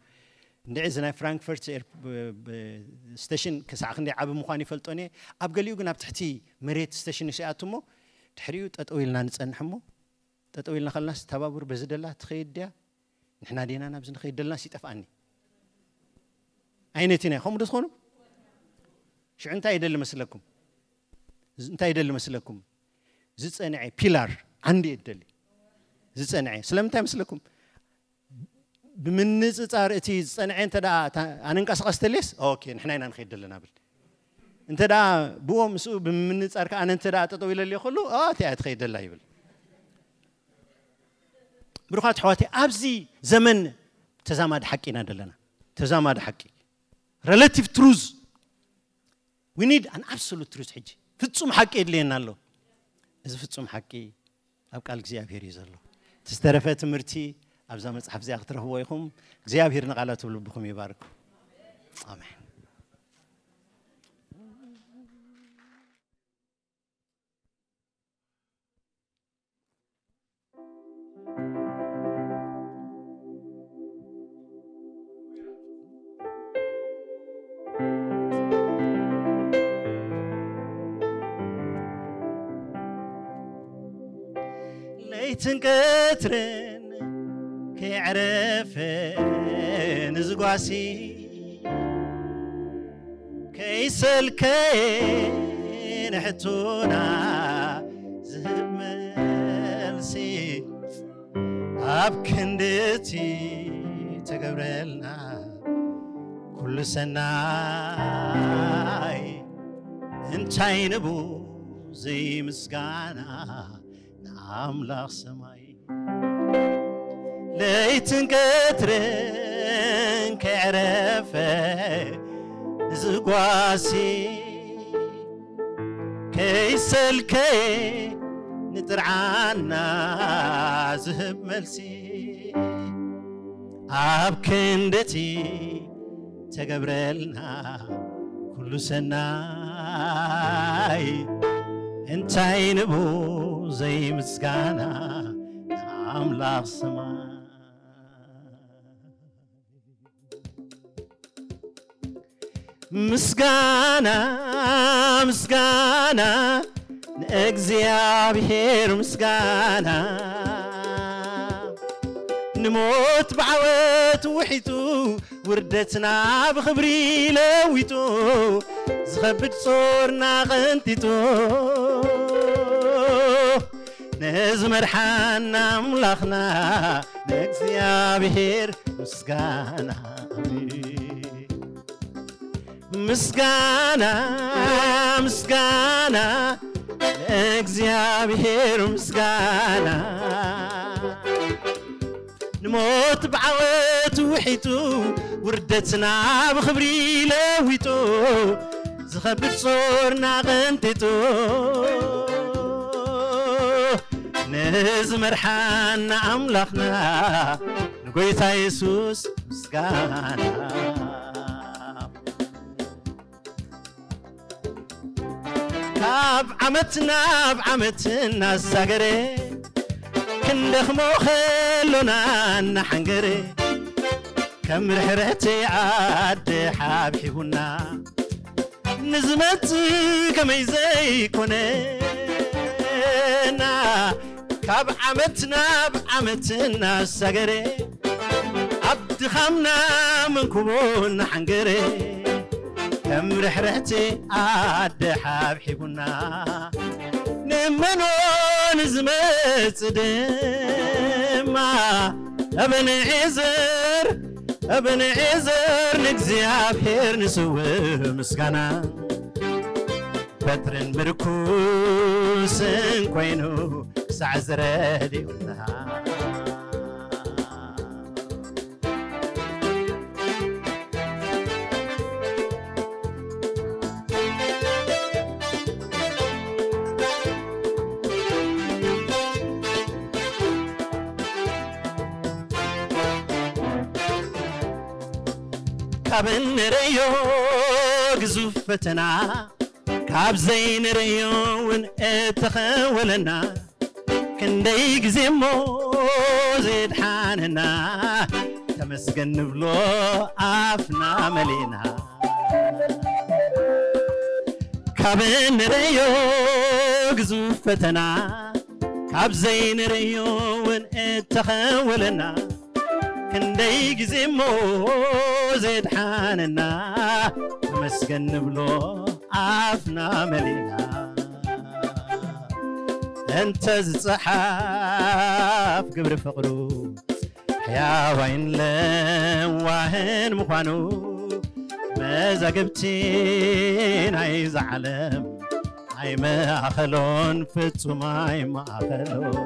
እንድዒ እዚ ናይ ፍራንክፈርት ኤር-፣ ብ-፣ ብ-፣ ስቴሽን ክሳዕ ክንደይ ዓቢ ምዃኑ ይፈልጦን እየ። ኣብ ገሊኡ ግን ኣብ ትሕቲ መሬት ስቴሽን ንስኣቱ እሞ፣ ድሕሪኡ ጠጠው ኢልና ንጸንሕ እሞ፣ ጠጠው ኢልና ከለናስ፣ እታ ባቡር በዚ ደላ ትኸይድ ድያ? ንሕና ዴና ናብዚ ንኸይድ ደለናስ ይጠፍኣኒ። ኣይነትን እያ። ከምኡ ዶ ትኾኑ? ሽዑ እንታይ ይደሊ መስለኩም? እንታይ ይደሊ መስለኩም? ዝጸንዐ ፒላር ዓንዲ እየ ዝደሊ። ዝጸንዐ። ስለምንታይ መስለኩም? ብምንጽጻር እቲ ዝጸንዐ እንተ ደኣ፣ እታ ኣነ እንቀሳቐስ ተልየስ፣ ኦኬ፣ ንሕና ኢና ንኸይድ ደለና ብል። እንተ ደኣ ብኡ ምስኡ ብምንጻር ከኣ፣ ኣነ እንተ ደኣ ጠጠው ኢለልዮ ከሉ፣ ኦ፣ እቲኣ እያ ትኸይድ ደላ ይብል። ብሩኻት ኣሕዋተይ፣ ኣብዚ ዘመን ተዛማዲ ሓቂ ኢና ደለና። ተዛማዲ ሓቂ። Relative truth. We need an absolute truth ሕጂ። ፍጹም ሓቂ የድልየና ኣሎ። እዚ ፍጹም ሓቂ ኣብ ቃል እግዚኣብሔር እዩ ዘሎ። እቲ ዝተረፈ ትምህርቲ ኣብዛ መጽሓፍ እዚኣ ክትረኽብዎ ኢኹም። እግዚኣብሔር ንቓላቱ ልብኹም ይባርክ። ኣሜን። ለይትን ቀትርን ከይዕረፈ ንዝጓሲ ከይሰልከየ ንሕቶና ዝህብ መልሲ ኣብ ክንድቲ ተገብረልና ኩሉ ሰናይ እንታይ ንቡ ዘይምስጋና ንኣምላኽ ሰማይ ለይትን ቀትርን ከዕረፈ ንዝጓሲ ከይሰልከየ ንጥርዓና ዝህብ መልሲ ኣብ ክንድቲ ተገብረልና ኩሉ ሰናይ እንታይ ንቡ ዘይምስጋና ኣምላኽ ሰማይ ምስጋና ምስጋና ንእግዚኣብሔር ምስጋና ንሞት ብዓወት ውሒጡ ውርደትና ብኽብሪ ለዊጡ ዝኸብድ ጾርና ቐንጢጡ ንዝመርሓና ኣምላኽና ንእግዚኣብሔር ምስጋና ምስጋና ምስጋና ንእግዚኣብሔር ምስጋና ንሞት ብዓወት ውሒጡ ውርደትና ብኽብሪ ለዊጡ ዝኸብድ ጾርና ቐንጢጡ ንዝመርሓና ኣምላኽና ንጎይታ የሱስ ምስጋና ካብ ዓመት ናብ ዓመት እናሳገረ ክንደኽሞ ከሎና እናሓንገረ ከም ርሕርሕቲ ኣደ ሓብሒቡና ንዝመጽእ ከመይ ዘይኮነና ካብ ዓመት ናብ ዓመት እናሳገረ ኣብ ድኻምና መንኩቡ እናሓንገረ ከም ርሕርሕቲ ኣደ ሓብሒቡና ንመኖ ንዝመጽእ ድማ እብንዔዘር እብንዔዘር ንእግዚኣብሔር ንስውእ ምስጋና በትርን ምርኩስን ኮይኑ ክሳዕ ዝረድኡና ካብ እንርእዮ ግዙፍ ፈተና፣ ካብ ዘይንርእዮ እውን እተኸወለና፣ ክንደይ ግዜ እሞ ዘድሓነና፣ ተመስገን ንብሎ ኣፍና መሊእና። ካብ እንርእዮ ግዙፍ ፈተና፣ ካብ ዘይንርእዮ እውን እተኸወለና፣ ክንደይ ግዜ እሞ ዘድሓነና፣ ተመስገን ንብሎ ኣፍና መሊእና። እንተ ዝጸሓፍ ግብሪ ፍቕሩ፣ ሕያዋይን ለዋህን ምዃኑ፣ መዛግብቲ ናይዛ ዓለም ኣይመኣኸሎን፣ ፍጹም ኣይመኣኸሎን።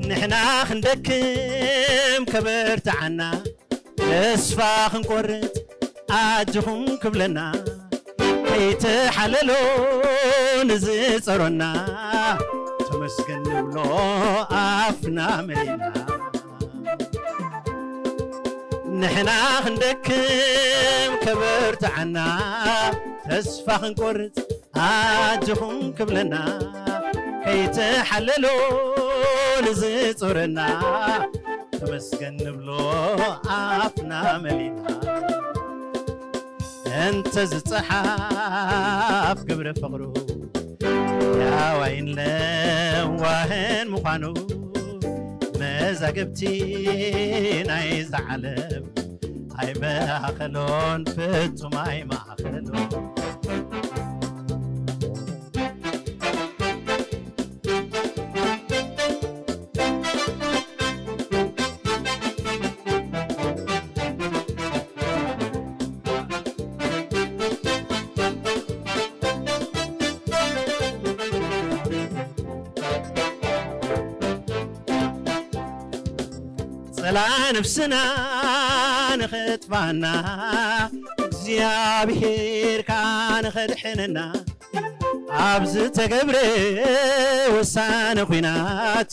ንሕና ክንደክም ከበርትዓና፣ ተስፋ ክንቆርጽ ኣጆኹም ክብለና፣ ከይተሓለሎ ንዝጸሮና፣ ተመስገን ንብሎ ኣፍና መሊእና። ንሕና ክንደክም ከበርትዓና፣ ተስፋ ክንቆርጽ ኣጆኹም ክብለና፣ ከይተሓለሎ ንዝጾረና፣ ተመስገን ንብሎ ኣፍና መሊእና። እንተ ዝጸሓፍ ግብረ ፍቕሩ፣ ሕያዋይን ለዋህን ምዃኑ፣ መዛግብቲ ናይዛ ዓለም ኣይመኣኸሎን፣ ፍጹም ኣይመኣኸሎን። ጸላ ነፍስና ንኸጥፋና፣ እግዚኣብሔር ከኣ ንኸድሕነና፣ ኣብ ዝተገብረ ወሳኒ ኲናት፣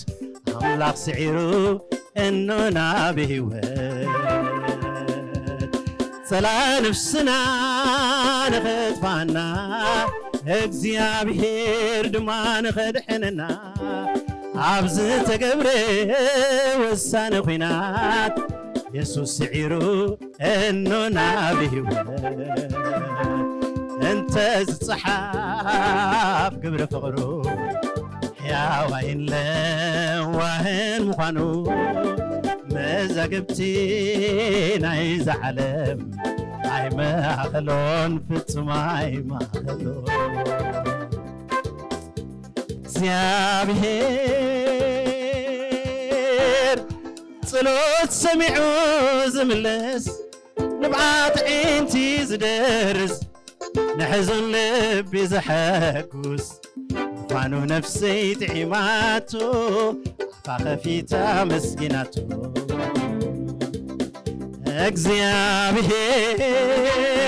ኣምላኽ ስዒሩ እኖና ብህይወት። ጸላ ነፍስና ንኸጥፋና፣ እግዚኣብሔር ድማ ንኸድሕነና፣ ኣብ ዝተገብረ ወሳኒ ኲናት፣ የሱስ ስዒሩ እኖና ብህይወት። እንተ ዝጸሓፍ ግብሪ ፍቕሩ፣ ሕያዋይን ለዋህን ምዃኑ፣ መዛግብቲ ናይዛ ዓለም ኣይመኣኸሎን፣ ፍጹም ኣይመኣኸሎን። እግዚኣብሔር ጸሎት ሰሚዑ ዝምልስ፣ ንብዓት ኣዒንቲ ዝደርስ፣ ንሕዙን ልቢ ዘሐጉስ ምዃኑ ነፍሰይ ጥዒማቶ፣ ኣፋ ከፊታ መስጊናቶ።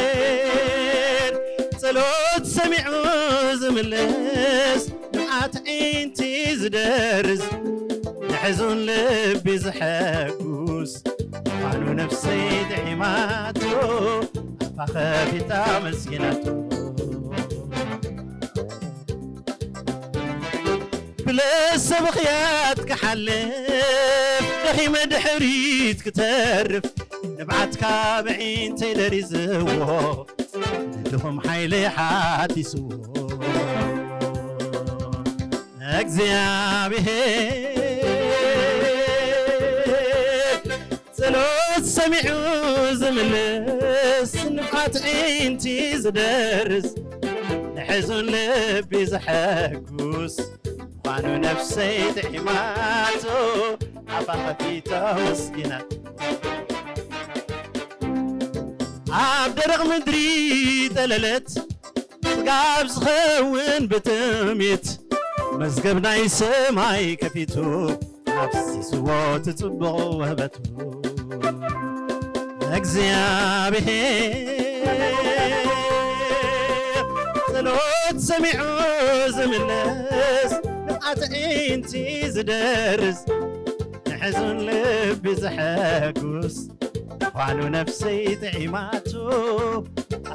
እግዚኣብሔር ጸሎት ሰሚዑ ዝምልስ፣ ንብዓት ኣዒንቲ ዝደርስ፣ ንሕዙን ልቢ ዘሐጉስ ምዃኑ ነፍሰይ ጥዒማቶ፣ ኣፋ ከፊታ መስጊናቶ። ብለሰ ብኽያት ክሓልፍ፣ ደኺመ ድሕሪት ክተርፍ፣ ንብዓትካ ብዒንተይ ደሪዝዎ፣ ንድኹም ሓይሊ ሓዲስዎ። እግዚኣብሔር ጸሎት ሰሚዑ ዝምልስ፣ ንብዓት ኣዒንቲ ዝደርስ፣ ንሕዙን ልቢ ዘሐጉስ ምዃኑ ነፍሰይ ጥዒማቶ፣ ኣፋ ከፊታ መስጊናቶ። ኣብ ደረቕ ምድሪ ጠለለት፣ ጽጋብ ዝኸውን ብጥሜት፣ መዝገብ ናይ ሰማይ ከፊቱ፣ ኣፍሲስዎ እቲ ጽቡቕ ውህበቱ። እግዚኣብሔር ጸሎት ሰሚዑ ዝምልስ፣ ንኣዕይንቲ ዝደርስ፣ ንሕዙን ልቢ ዘሐጉስ፣ ኳኑ ነፍሰይ ጥዒማቱ፣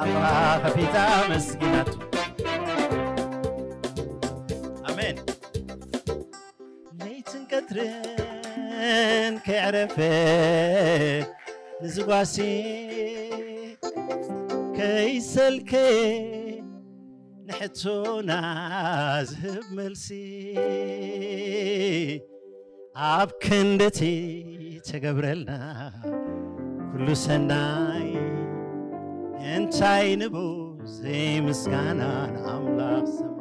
ኣባ ከፊታ መስጊናቱ። ኣሜን። ለይትን ቀትርን ከይዕረፈ ንዝጓሲ፣ ከይሰልከ ንሕቶና ዝህብ መልሲ፣ ኣብ ክንደቲ ተገብረልና ኩሉ ሰናይ፣ እንታይ ንቡ ዘይምስጋና ንኣምላኽ ሰማይ።